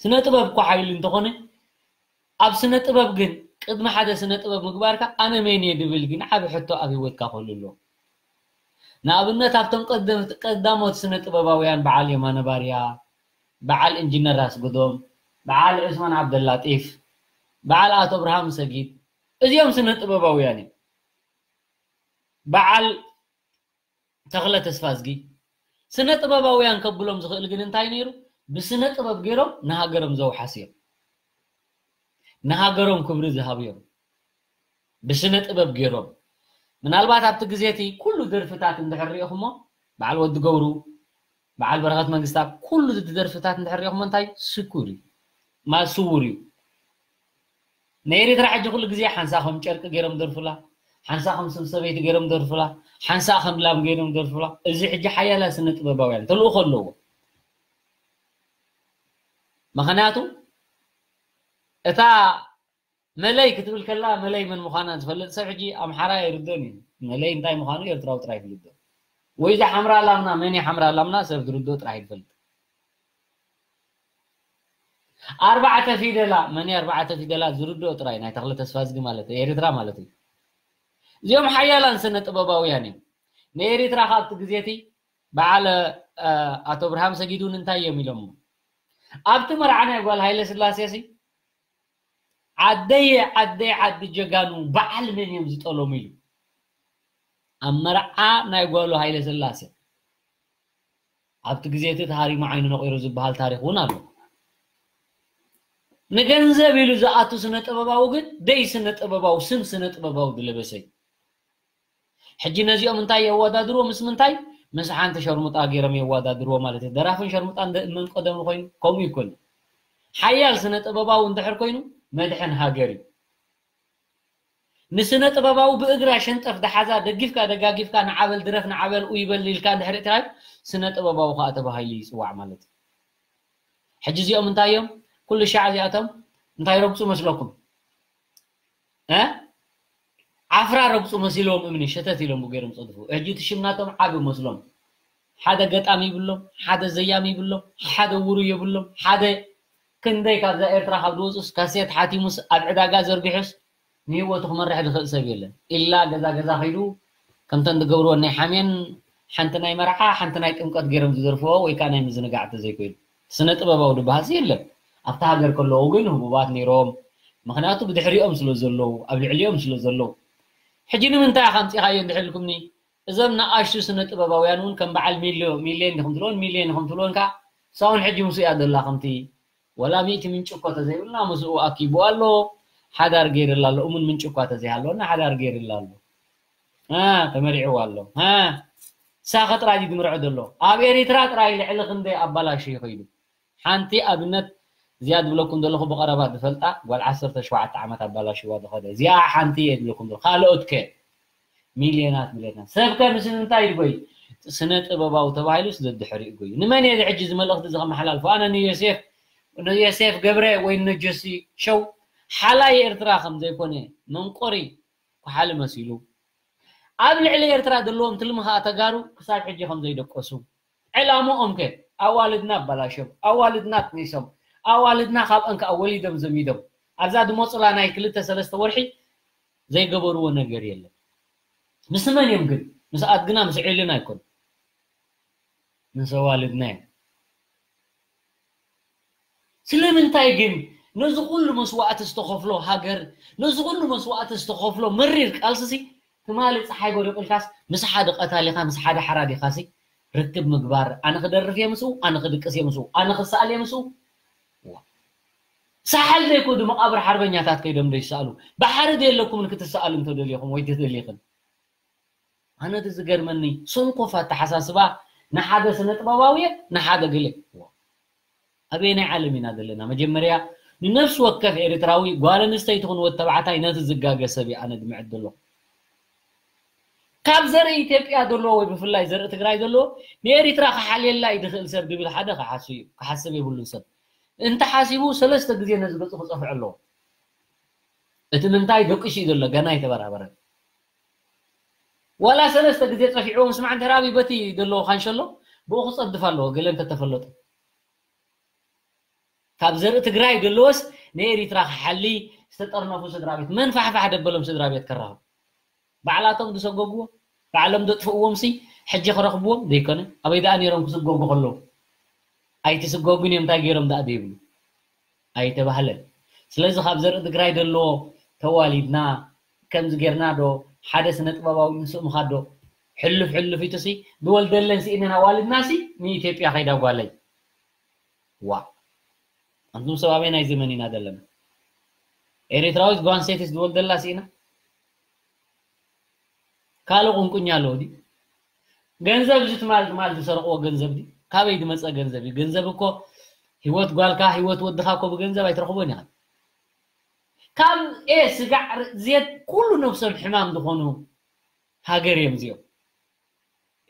ስነ ጥበብ እኮ ሓይሊ እንተኾነ፣ ኣብ ስነ ጥበብ ግን ቅድሚ ሓደ ስነ ጥበብ ምግባርካ ኣነ መን እየ ድብል ግን ዓቢ ሕቶ ኣብ ህይወትካ ክህሉ ኣለዎ። ንኣብነት ኣብቶም ቀደምት-፣ ቀዳሞት ስነ ጥበባውያን በዓል የማነ ባርያ፣ በዓል ኢንጂነር ኣስገዶም፣ በዓል ዑስማን ዓብደላጢፍ፣ በዓል ኣቶ ኣብርሃም ሰጊድ፣ እዚኦም ስነ ጥበባውያን እዮም። በዓል ተኽለ ተስፋዝጊ ስነ ጥበባውያን ከብሎም ዝኽእል ግን እንታይ ነይሩ? ብስነ ጥበብ ገይሮም ንሃገሮም ዘውሓስ እዮም። ንሃገሮም ክብሪ ዝሃቡ እዮም። ብስነ ጥበብ ገይሮም ምናልባት ኣብቲ ግዜ እቲ ኩሉ ደርፍታት እንድሕር ሪኢኹሞ በዓል ወዲ ገብሩ በዓል በረኸት መንግስታ ኩሉ እቲ ደርፍታት እንድሕር ሪኢኹሞ እንታይ ስኩር እዩ ማለት ስውር እዩ። ንኤሪትራ ሕጂ ኩሉ ግዜ ሓንሳ ከም ጨርቂ ገይሮም ደርፉላ፣ ሓንሳ ከም ስም ሰበይቲ ገይሮም ደርፉላ፣ ሓንሳ ከም ላም ገይሮም ደርፉላ። እዚ ሕጂ ሓያላ ስነ ጥበባውያን ተልእኾ ኣለዎ። ምኽንያቱ እታ መለይ ክትብል ከላ መለይ መን ምዃና ዝፈልጥ ሰብ ሕጂ ኣምሓራ ኣይርድኦን እዩ። መለይ እንታይ ምዃኑ ኤርትራዊ ጥራይ ይፍልጦ። ወይ እዛ ሓምራ ላምና መን እያ ሓምራ ላምና ሰብ ዝርድኦ ጥራይ ይፈልጥ። ኣርባዕተ ፊደላ መን እያ ኣርባዕተ ፊደላ ዝርድኦ ጥራይ ናይ ተኽለ ተስፋዝጊ ማለት እዩ፣ ኤርትራ ማለት እዩ። እዚኦም ሓያላን ስነ ጥበባውያን እዮም። ንኤርትራ ካብቲ ግዜ እቲ በዓል ኣቶ ብርሃም ሰጊድ እውን እንታይ እዮም ኢሎሞ? ኣብቲ መርዓ ናይ ጓል ሃይለ ስላሴ ሲ ዓደየ ዓደይ ዓዲ ጀጋኑ በዓል መን እዮም ዝጠለሙ ኢሉ ኣብ መርዓ ናይ ጓሉ ሃይለ ስላሴ ኣብቲ ግዜ እቲ ተሃሪሙ ዓይኑ ነቂሩ ዝበሃል ታሪክ እውን ኣሎ። ንገንዘብ ኢሉ ዝኣቱ ስነ ጥበባዊ ግን ደይ ስነ ጥበባዊ ስም ስነ ጥበባዊ ዝለበሰ እዩ። ሕጂ ነዚኦም እንታይ የወዳድርዎ ምስ ምንታይ? ምስ ሓንቲ ሸርሙጣ ገይሮም የወዳድርዎ ማለት እዩ። ደራፍን ሸርሙጣን ደ-፣ መን ቀደም ኮይኑ ከምኡ ይኮን። ሓያል ስነ ጥበባዊ እንድሕር ኮይኑ መድሕን ሃገር እዩ። ንስነ ጥበባዊ ብእግራ ሸንጠፍ ደሓዛ ደጊፍካ ደጋጊፍካ ንዓበል ድረፍ ንዓበል ኡይ በል ኢልካ እንድሕር እትራይ ስነ ጥበባዊ ከዓ ተባሂሉ ይፅዋዕ ማለት እዩ። ሕጂ እዚኦም እንታይ እዮም? ኩሉ ሻዕ እዚኣቶም እንታይ ረግፁ መስለኩም? እ? ዓፍራ ረግፁ መሲሎም እምኒ ሸተት ኢሎም ገይሮም ፀድፉ። ሕጂ እቲ ሽም ናቶም ዓቢ መስሎም። ሓደ ገጣሚ ይብሎም፣ ሓደ ዘያሚ ይብሎም፣ ሓደ ውሩ የብሎም፣ ሓደ ክንደይ ካብዛ ኤርትራ ካብ ዝወፁስ ካሴት ሓቲሙስ ኣብ ዕዳጋ ዘርጊሑስ ንህይወቱ ክመርሕ ዝኽእል ሰብ የለን። ኢላ ገዛ ገዛ ከይዱ ከምተን ዝገብርዎ ናይ ሓሜን ሓንቲ ናይ መርዓ ሓንቲ ናይ ጥምቀት ገይሮም ዝደርፍዎ ወይ ከዓ ናይ ምዝንጋዕ እንተዘይኮይኑ ስነ ጥበባዊ ዝበሃልሲ የለን። ኣብታ ሃገር ከለዉ ግን ህቡባት ነይሮም። ምኽንያቱ ብድሕሪኦም ስለ ዘለዉ፣ ኣብ ልዕሊኦም ስለ ዘለዉ። ሕጂ ንምንታይ ኢኻ ኣምፂኻዮ እንድሕር ኢልኩምኒ፣ እዞም ንኣሽቱ ስነ ጥበባውያን እውን ከም በዓል ሚልዮ-፣ ሚልዮን ዲኹም ትብልዎን፣ ሚልዮን ዲኹም ትብልዎን ከዓ ሳውን ሕጂ ምስኡ እያ ዘላ ከምቲ ወላ ሚእቲ ምንጭ እኮ ተዘይብልና ምስኡ ኣኪቡ ኣሎ፣ ሓዳር ገይርላ ኣሎ። እሙን ምንጭ እኳ ተዘይሃለወና ሓዳር ገይርላ ኣሎ። እ፣ ተመሪዕዋ ኣሎ። እ፣ ሳኸ ጥራይ ድዩ ዝምርዖ ዘሎ? ኣብ ኤሪትራ ጥራይ ልዕሊ ክንደይ ኣባላሽዩ ከይዱ። ሓንቲ ኣብነት ዝያድ ዝብለኩም ዘለኹ ብቐረባ ዝፈልጣ ጓል ዓሰርተ ሸውዓተ ዓመት ኣባላሽዋ ዝኸደ። እዚኣ ሓንቲ እየ ዝብለኩም ዘለኹ። ካልኦት ከ? ሚልዮናት ሚልዮናት። ሰብ ከ ምስ ምንታይ ይጎይ? ስነ ጥበባዊ ተባሂሉ ስለ ድሕሪኡ ጎዩ። ንመን እየ ሕጂ እዚ መልእኽቲ እዚ ከመሓላልፎ? ኣነ ንዮሴፍ፣ ንዮሴፍ ገብረ ወይ ንጆሲ ሸው ሓላይ ኤርትራ ከም ዘይኮነ መንቆሪ ኩሓሊ መሲሉ ኣብ ልዕሊ ኤርትራ ዘለዎም ትልሚ ኸኣ ተጋሩ ክሳብ ሕጂ ከም ዘይደቀሱ። ዕላምኦም ከ ኣዋልድና ኣባላሽዮም፣ ኣዋልድና ኣጥኒሶም፣ ኣዋልድና ካብ እንከኣ ወሊዶም ዘሚዶም ኣብዛ ዝመጹላ ናይ ክልተ ሰለስተ ወርሒ ዘይገበርዎ ነገር የለን። ምስ መን እዮም ግን? ምስ ኣድግና ምስ ዒልና ኣይኮን። ምስ ኣዋልድና እዮም። ስለምንታይ ግን ነዚ ኩሉ መስዋእቲ ዝተኸፍሎ ሃገር፣ ነዚ ኩሉ መስዋእቲ ዝተኸፍሎ መሪር ቃልስሲ ትማሊ ፀሓይ ጎደቕ ኢልካስ ምስ ሓደ ቀታሊኻ ምስ ሓደ ሓራዲኻሲ ርክብ ምግባር፣ ኣነ ክደርፍ እየ ምስኡ፣ ኣነ ክድቅስ እየ ምስኡ፣ ኣነ ክሰኣል እየ ምስኡ። ዋ። ሰሓል ዘይኮ ዶ መቓብር ሓርበኛታት ከይዶም ዶ ይሰኣሉ? ባሕሪ ዶ የለኩምን ክትሰኣሉ እንተደሊኹም ወይ ተደሊኽን? ኣነ እቲ ዝገርመኒ ሰንኮፍ ኣተሓሳስባ ንሓደ ስነ ጥበባዊ እየ ንሓደ ገለ። ዋ። ኣበየናይ ዓለም ኢና ዘለና? መጀመርያ ንነፍሲ ወከፍ ኤርትራዊ ጓል ኣንስተይቲ ይኹን ወዲ ተባዕታይ ነቲ ዝጋገ ሰብ እዩ ኣነ ድምዕድ ዘለኹ። ካብ ዘርኢ ኢትዮጵያ ዘለዎ ወይ ብፍላይ ዘርኢ ትግራይ ዘለዎ ንኤሪትራ ክሓልየላ እዩ ዝኽእል ሰብ ድብል ሓደ ክሓስብ እዩ፣ ክሓስብ የብሉን ሰብ። እንተሓሲቡ ሰለስተ ግዜ ነዚ ገጹ ክጸፍዖ ኣለዎ። እቲ ምንታይ ደቂሱ እዩ ዘሎ፣ ገና ኣይተበራበረን። ዋላ ሰለስተ ግዜ ጸፊዕዎ ምስማዕ እንተ ደኣ በቲ ዘለዎ ካንሸሎ ብኡ ክጸድፍ ኣለዎ፣ ገለ እንተተፈለጡ። ካብ ዘርኢ ትግራይ ደለዎስ ንኤሪትራ ክሓሊ ዝተጠርነፉ ስድራ ቤት መን ፋሕፋሕ ደበሎም ስድራ ቤት ከራኽቡ? ባዕላቶም ዝሰጎግዎ ባዕሎም ዘጥፍእዎም ሲ ሕጂ ክረኽብዎም ዘይኮነ ኣበይ ደኣ ነይሮም ክስጎጉ ከለዉ ኣይትስጎጉን እዮም እንታይ ገይሮም ደኣ ዘይብሉ ኣይተባህለን። ስለዚ ካብ ዘርኢ ትግራይ ደለዎ ተዋሊድና ከምዚ ጌርና ዶ ሓደ ስነ ጥበባዊ ንስእምኻ ዶ ሕልፍ ሕልፍ ኢቱ ሲ ዝወልደለን ስኢነን ኣዋልድና ሲ ንኢትዮጵያ ከይዳ ጓለይ ዋ ኣንቱም ሰብ ኣበይ ናይ ዘመን ኢና ዘለና ኤሪትራዊት ጓንሴትስ ዝወልደላ ስኢና ካልእ ቁንቁኛ ኣለዎ ድዩ ገንዘብ እዚ ትማል ትማል ዝሰርቅዎ ገንዘብ ድዩ ካበይ ዝመፀ ገንዘብ እዩ ገንዘብ እኮ ህይወት ጓልካ ህይወት ወድኻ እኮ ብገንዘብ ኣይትረኽቦን ኢኻ ካብ ኤ ስጋዕ ዜት ኩሉ ነብሶም ሕማም ዝኾኑ ሃገር እዮም እዚኦም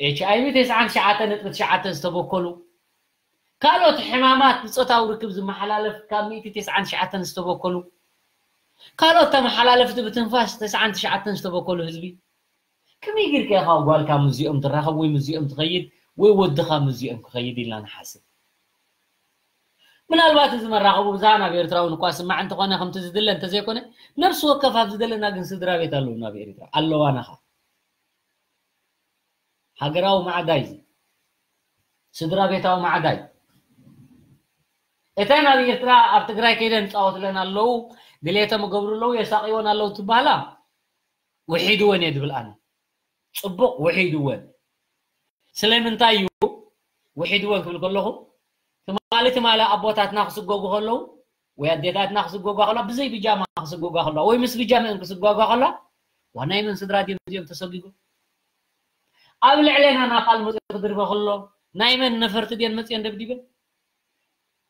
ኤች ኣይ ቪ ተስዓን ትሽዓተን ነጥቢ ትሽዓተ ዝተበከሉ ካልኦት ሕማማት ብፆታዊ ርክብ ዝመሓላለፍ ካብ ሚእቲ ተስዓን ትሽዓተን ዝተበከሉ ካልኦት ተመሓላለፍቲ ብትንፋስ ተስዓን ትሽዓተን ዝተበከሉ ህዝቢ ከመይ ጌርካ ኢኻ ጓልካ ምስዚኦም ትራኸብ ወይ ምስዚኦም ትኸይድ ወይ ወድኻ ምስዚኦም ክኸይድ ኢልና ንሓስብ ምናልባት እዚ መራኸቡ ብዝሃ ናብ ኤርትራዊ ንኳ ስማዕ እንተኾነ ከምቲ ዝድለ እንተዘይኮነ ነብሲ ወከፍ ኣብ ዝደለና ግን ስድራ ቤት ኣለዉ ናብ ኤርትራ ኣለዋናኻ ሃገራዊ ማዕዳ እዩ ስድራ ቤታዊ ማዕዳ እዩ እተን ኣብ ኤርትራ ኣብ ትግራይ ከይደን ይፃወትለን ኣለዉ ድሌቶም ይገብሩ ኣለዉ የሳቅይወን ኣለዉ ትበሃላ ውሒድወን እየ ዝብል ኣነ ፅቡቅ ውሒድወን ስለምንታይ እዩ ውሒድወን ክብል ከለኹ ትማሊ ትማሊ ኣቦታትና ክስጎጉ ከለዉ ወይ ኣዴታትና ክስጎጓ ከለዋ ብዘይ ብጃማ ክስጎጓ ከለዋ ወይ ምስ ብጃመአን ክስጎጓ ከለዋ ዋናይ መን ስድራ ድዮም እዚኦም ተሰጊጎም ኣብ ልዕሌና ናፋል መፅኡ ክድርበ ከሎ ናይ መን ነፈርቲ ድየን መፅየን ደብዲበን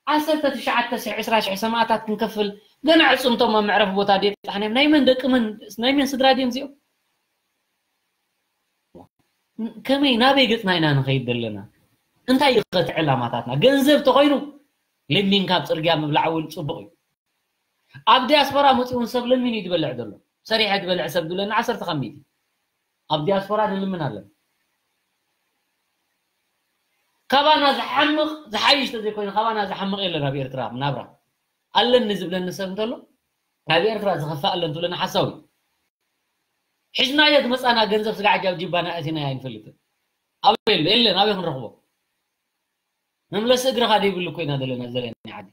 ዓሰርተ ትሽዓተ ሽሕ ዕስራ ሽሕ ሰማእታት ክንከፍል ገና ዕፅምቶም ኣብ መዕረፊ ቦታ ድየጣሕናዮም ናይ መን ደቂ መን ናይ መን ስድራ ድዮም እዚኦም ከመይ ናበይ ገፅና ኢና ንኸይድ ዘለና እንታይ እዩ ኸቲ ዕላማታትና ገንዘብ ተኾይኑ ለሚንካ ኣብ ፅርግያ ምብላዕ እውን ፅቡቅ እዩ ኣብ ዲያስፖራ መፂኡ እውን ሰብ ለሚን እዩ ዝበልዕ ዘሎ ሰሪሐ ዝበልዕ ሰብ ዝብለና ዓሰርተ ካብ ሚእቲ ኣብ ዲያስፖራ ንልምን ኣለና ካባና ዝሓምቕ ዝሓይሽ ተዘይኮይኑ ካባና ዝሓምቕ የለን ኣብ ኤርትራ ናብራ ኣለኒ ዝብለኒ ሰብ እንተሎ ካብ ኤርትራ ዝኸፍእ ኣሎ እንትብለና ሓሳዊ ሒዝናዮ ዝመፃና ገንዘብ ስጋዕ ጃብ ጅባና ኣእቲናዮ ኣይንፈልጥን ኣበይ ኣሎ የለን ኣበይ ክንረኽቦ መምለሲ እግርኻ ዘይብሉ ኮይና ዘለና ዘለና ዓዲ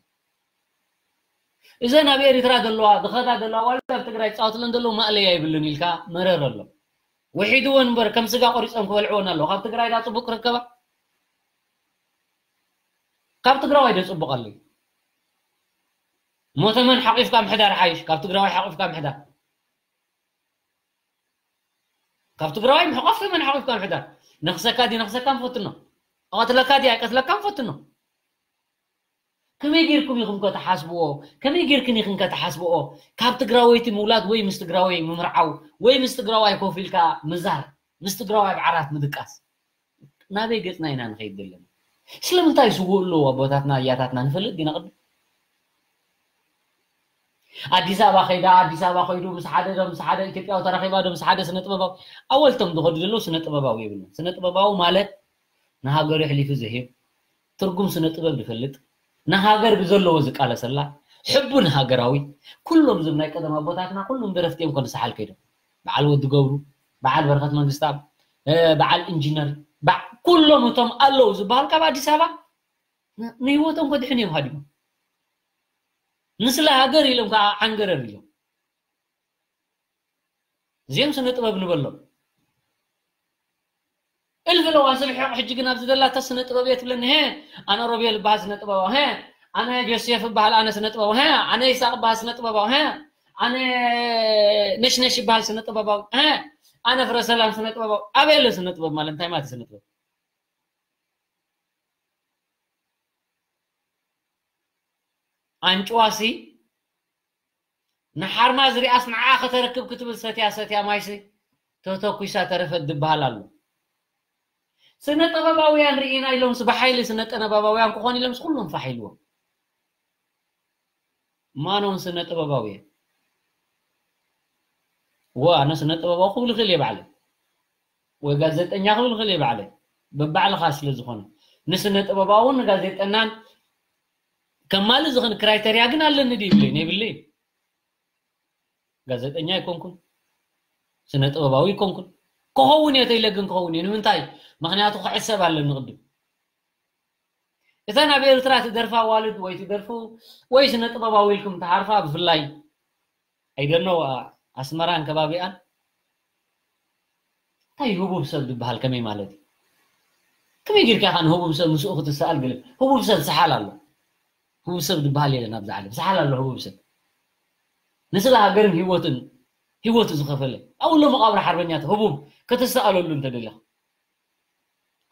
እዘን ኣብ ኤሪትራ ዘለዋ ዝኸዳ ዘለዋ ዋላ ኣብ ትግራይ ፃወትለን ዘለዉ ማእለያ ይብልን ኢልካ መረር ኣሎ ውሒድወን እምበር ከም ስጋ ቆሪፆም ክበልዕወን ኣለዉ ካብ ትግራይ ዳ ፅቡቅ ክርከባ ካብ ትግራዋይ ዶ ፅቡቅ ኣሎ ሞተመን ሓቂፍካ ምሕዳር ሓይሽ ካብ ትግራዋይ ሓቂፍካ ምሕዳር ካብ ትግራዋይ ምሕቋፍ ተመን ሓቂፍካ ምሕዳር ነኽሰካ ዲ ነኽሰካ ንፈትኖ እቐትለካ ዲ ኣይቀትለካ ንፈትኖ ከመይ ጌርኩም ኢኹም ከተሓስብዎ ከመይ ጌርክን ኢኽን ከተሓስብኦ ካብ ትግራወይቲ ምውላድ ወይ ምስ ትግራወይ ምምርዓው ወይ ምስ ትግራዋይ ኮፍ ኢልካ ምዛር ምስ ትግራዋይ ኣብ ዓራት ምድቃስ ናበይ ገፅና ኢና ንኸይድ ዘለና ስለምንታይ ይስውኡ ኣለዉ ኣቦታትና ኣያታትና ንፈልጥ ዲና ቅድም ኣዲስ ኣበባ ከይዳ ኣዲስ ኣበባ ከይዱ ምስ ሓደ ዶ ምስ ሓደ ኢትዮጵያዊ ተራኺባ ዶ ምስ ሓደ ስነ ጥበባዊ ኣወልቶም ዝኸዱ ዘለዉ ስነ ጥበባዊ የብልና ስነ ጥበባዊ ማለት ንሃገሩ የሕሊፉ ዝህብ ትርጉም ስነ ጥበብ ዝፈልጥ ንሃገር ብዘለዎ ዝቃለሰላ ሕቡ ንሃገራዊ ኩሎም ዝም ናይ ቀደም ኣቦታትና ኩሎም ደረፍቲ እዮም ከንሰሓል ከይዶም በዓል ወዲ ገብሩ በዓል በረኸት መንግስታብ በዓል ኢንጂነር ኩሎም እቶም ኣለዉ ዝበሃል ካብ ኣዲስ ኣበባ ንህይወቶም ከድሕን እዮም ሃዲሞም ንስለ ሃገር ኢሎም ከዓ ዓንገረር ኢሎም እዚኦም ስነ ጥበብ ንበሎም እልፍ ለዋ ስብሒ ሕጂ ግን ኣብዚ ዘላታ ስነ ጥበብ እየ ትብለኒ ሀ ኣነ ሮቤል እበሃል ስነ ጥበባዊ ሀ ኣነ ጆሴፍ እበሃል ኣነ ስነ ጥበባዊ ሀ ኣነ ይሳቅ እበሃል ስነ ጥበባዊ ሀ ኣነ ነሽነሽ ይበሃል ስነ ጥበባዊ ሀ ኣነ ፍረሰላም ስነ ጥበባዊ ኣበይ ኣሎ ስነ ጥበብ ማለት እንታይ ማለት ስነ ጥበብ ኣንጭዋሲ ንሓርማዝ ሪኣስ ንዓ ከተረክብ ክትብል ሰትያ ሰትያ ማይሲ ተተኩሳ ተረፈት ዝበሃል ኣሎ ስነ ጥበባውያን ርኢና ኢሎምስ ብሓይሊ ስነ ጥበባውያን ክኾኑ ኢሎምስ ኩሎም ፋሕ ኢልዎም ማኖም ስነ ጥበባውያን ዋ ኣነ ስነ ጥበባዊ ክብል ይኽእል እየ ባዕለይ ወይ ጋዜጠኛ ክብል ይኽእል እየ ባዕለይ በባዕልኻ ስለ ዝኾነ ንስነ ጥበባውን ንጋዜጠናን ከማሊ ዝኽን ክራይተርያ ግን ኣለኒ ድዩ ይብለይ? የብለይ። ጋዜጠኛ ኣይኮንኩን፣ ስነ ጥበባዊ ኣይኮንኩን። ክኸውን እየ ተይለ ግን ክኸውን እየ። ንምንታይ? ምኽንያቱ ክሕሰብ ኣለኒ ቅድም። እተን ኣብ ኤርትራ ትደርፋ ኣዋልድ ወይ ትደርፉ ወይ ስነ ጥበባዊ ኢልኩም ትሓርፋ ብፍላይ፣ I don't know፣ ኣስመራን ከባቢኣን፣ እንታይ ህቡብ ሰብ ዝበሃል ከመይ ማለት እዩ? ከመይ ጌርካ ኢኻ ንህቡብ ሰብ ምስኡ ክትሰኣል? ገለ ህቡብ ሰብ ሰሓል ኣሎ። ህቡብ ሰብ ዝበሃል የለን ኣብዚ ዓለም። ሰሓል ኣሎ ህቡብ ሰብ። ንስለ ሃገርን ህይወትን፣ ህይወቱ ዝኸፈለ፣ ኣብኡ ኣሎ መቓብር ሓርበኛታት። ህቡብ ክትሰኣለሉ እንተደሊኻ፣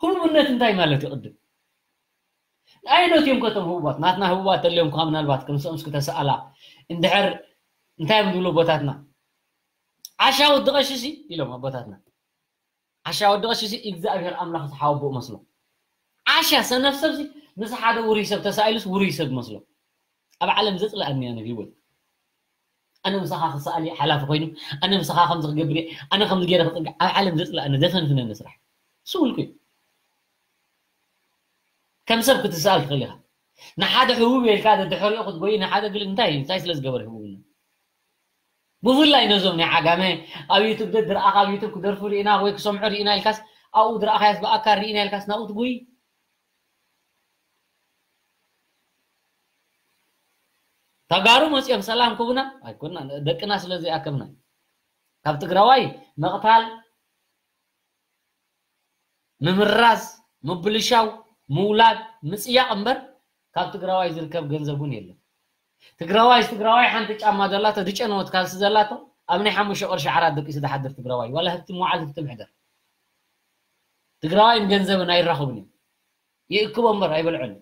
ህቡብነት እንታይ ማለት እዩ? ቅድም ኣየኖት እዮም ከቶም ህቡባት? ናትና ህቡባት ተልዮም ከ ምናልባት ከም ሰምስኩ ተሰኣላ እንድሕር እንታይ እዮም ዝብሉ ኣቦታትና? ዓሻ ወዲ ቀሺ ሲ ኢሎም ኣቦታትና። ዓሻ ወዲ ቀሺ ሲ እግዚኣብሔር ኣምላኽ ዝሓወቦ መስሎ። ዓሻ ሰነፍ ሰብ ሲ ምስ ሓደ ውሩይ ሰብ ተሳኢሉስ ውሩይ ሰብ መስሎ። ኣብ ዓለም ዘጽልኣኒ ኣነ ህይወት። ኣነ ምሳኻ ክሰኣል እየ ሓላፊ ኮይኑ፣ ኣነ ምሳኻ ከምዚ ክገብር እየ፣ ኣነ ከምዚ ገይረ ክጽንዕ፣ ኣብ ዓለም ዘጽልኣኒ ዘፈንፍነኒ ስራሕ። ስውልኩ እዩ። ከም ሰብ ክትሰኣል ትኽእል ኢኻ። ንሓደ ህቡብ ኢልካ ደድሕሪኡ ክትጎይ፣ ንሓደ ግል እንታይ እዩ? እንታይ ስለ ዝገበረ ህቡብነት? ብፍላይ ነዞም ናይ ዓጋመ ኣብ ዩቱብ ደድረኣኻ ኣብ ዩቱብ ክደርፉ ርኢና ወይ ክሰምዑ ርኢና ኢልካስ ኣብኡ ድረኣኻያስ ብኣካል ርኢና ኢልካስ ናብኡ ትጎይ? ተጋሩ መጽኦም ሰላም ክቡና ኣይኮና ደቅና ስለ ዘይኣከብና ካብ ትግራዋይ መቕታል ምምራዝ ምብልሻው ምውላድ ምጽያቕ እምበር ካብ ትግራዋይ ዝርከብ ገንዘብ እውን የለን። ትግራዋይ ትግራዋይ ሓንቲ ጫማ ዘላቶ ድጨነወት ካልሲ ዘላቶ ኣብ ናይ ሓሙሽተ ቅርሺ ዓራት ደቂሱ ዝሓድር ትግራዋይ ዋላ ህብቲ መዋዓል ህብቲ ምሕደር ትግራዋይን ገንዘብን ኣይራኸቡን እዮም። ይእክቦ እምበር ኣይበልዖን።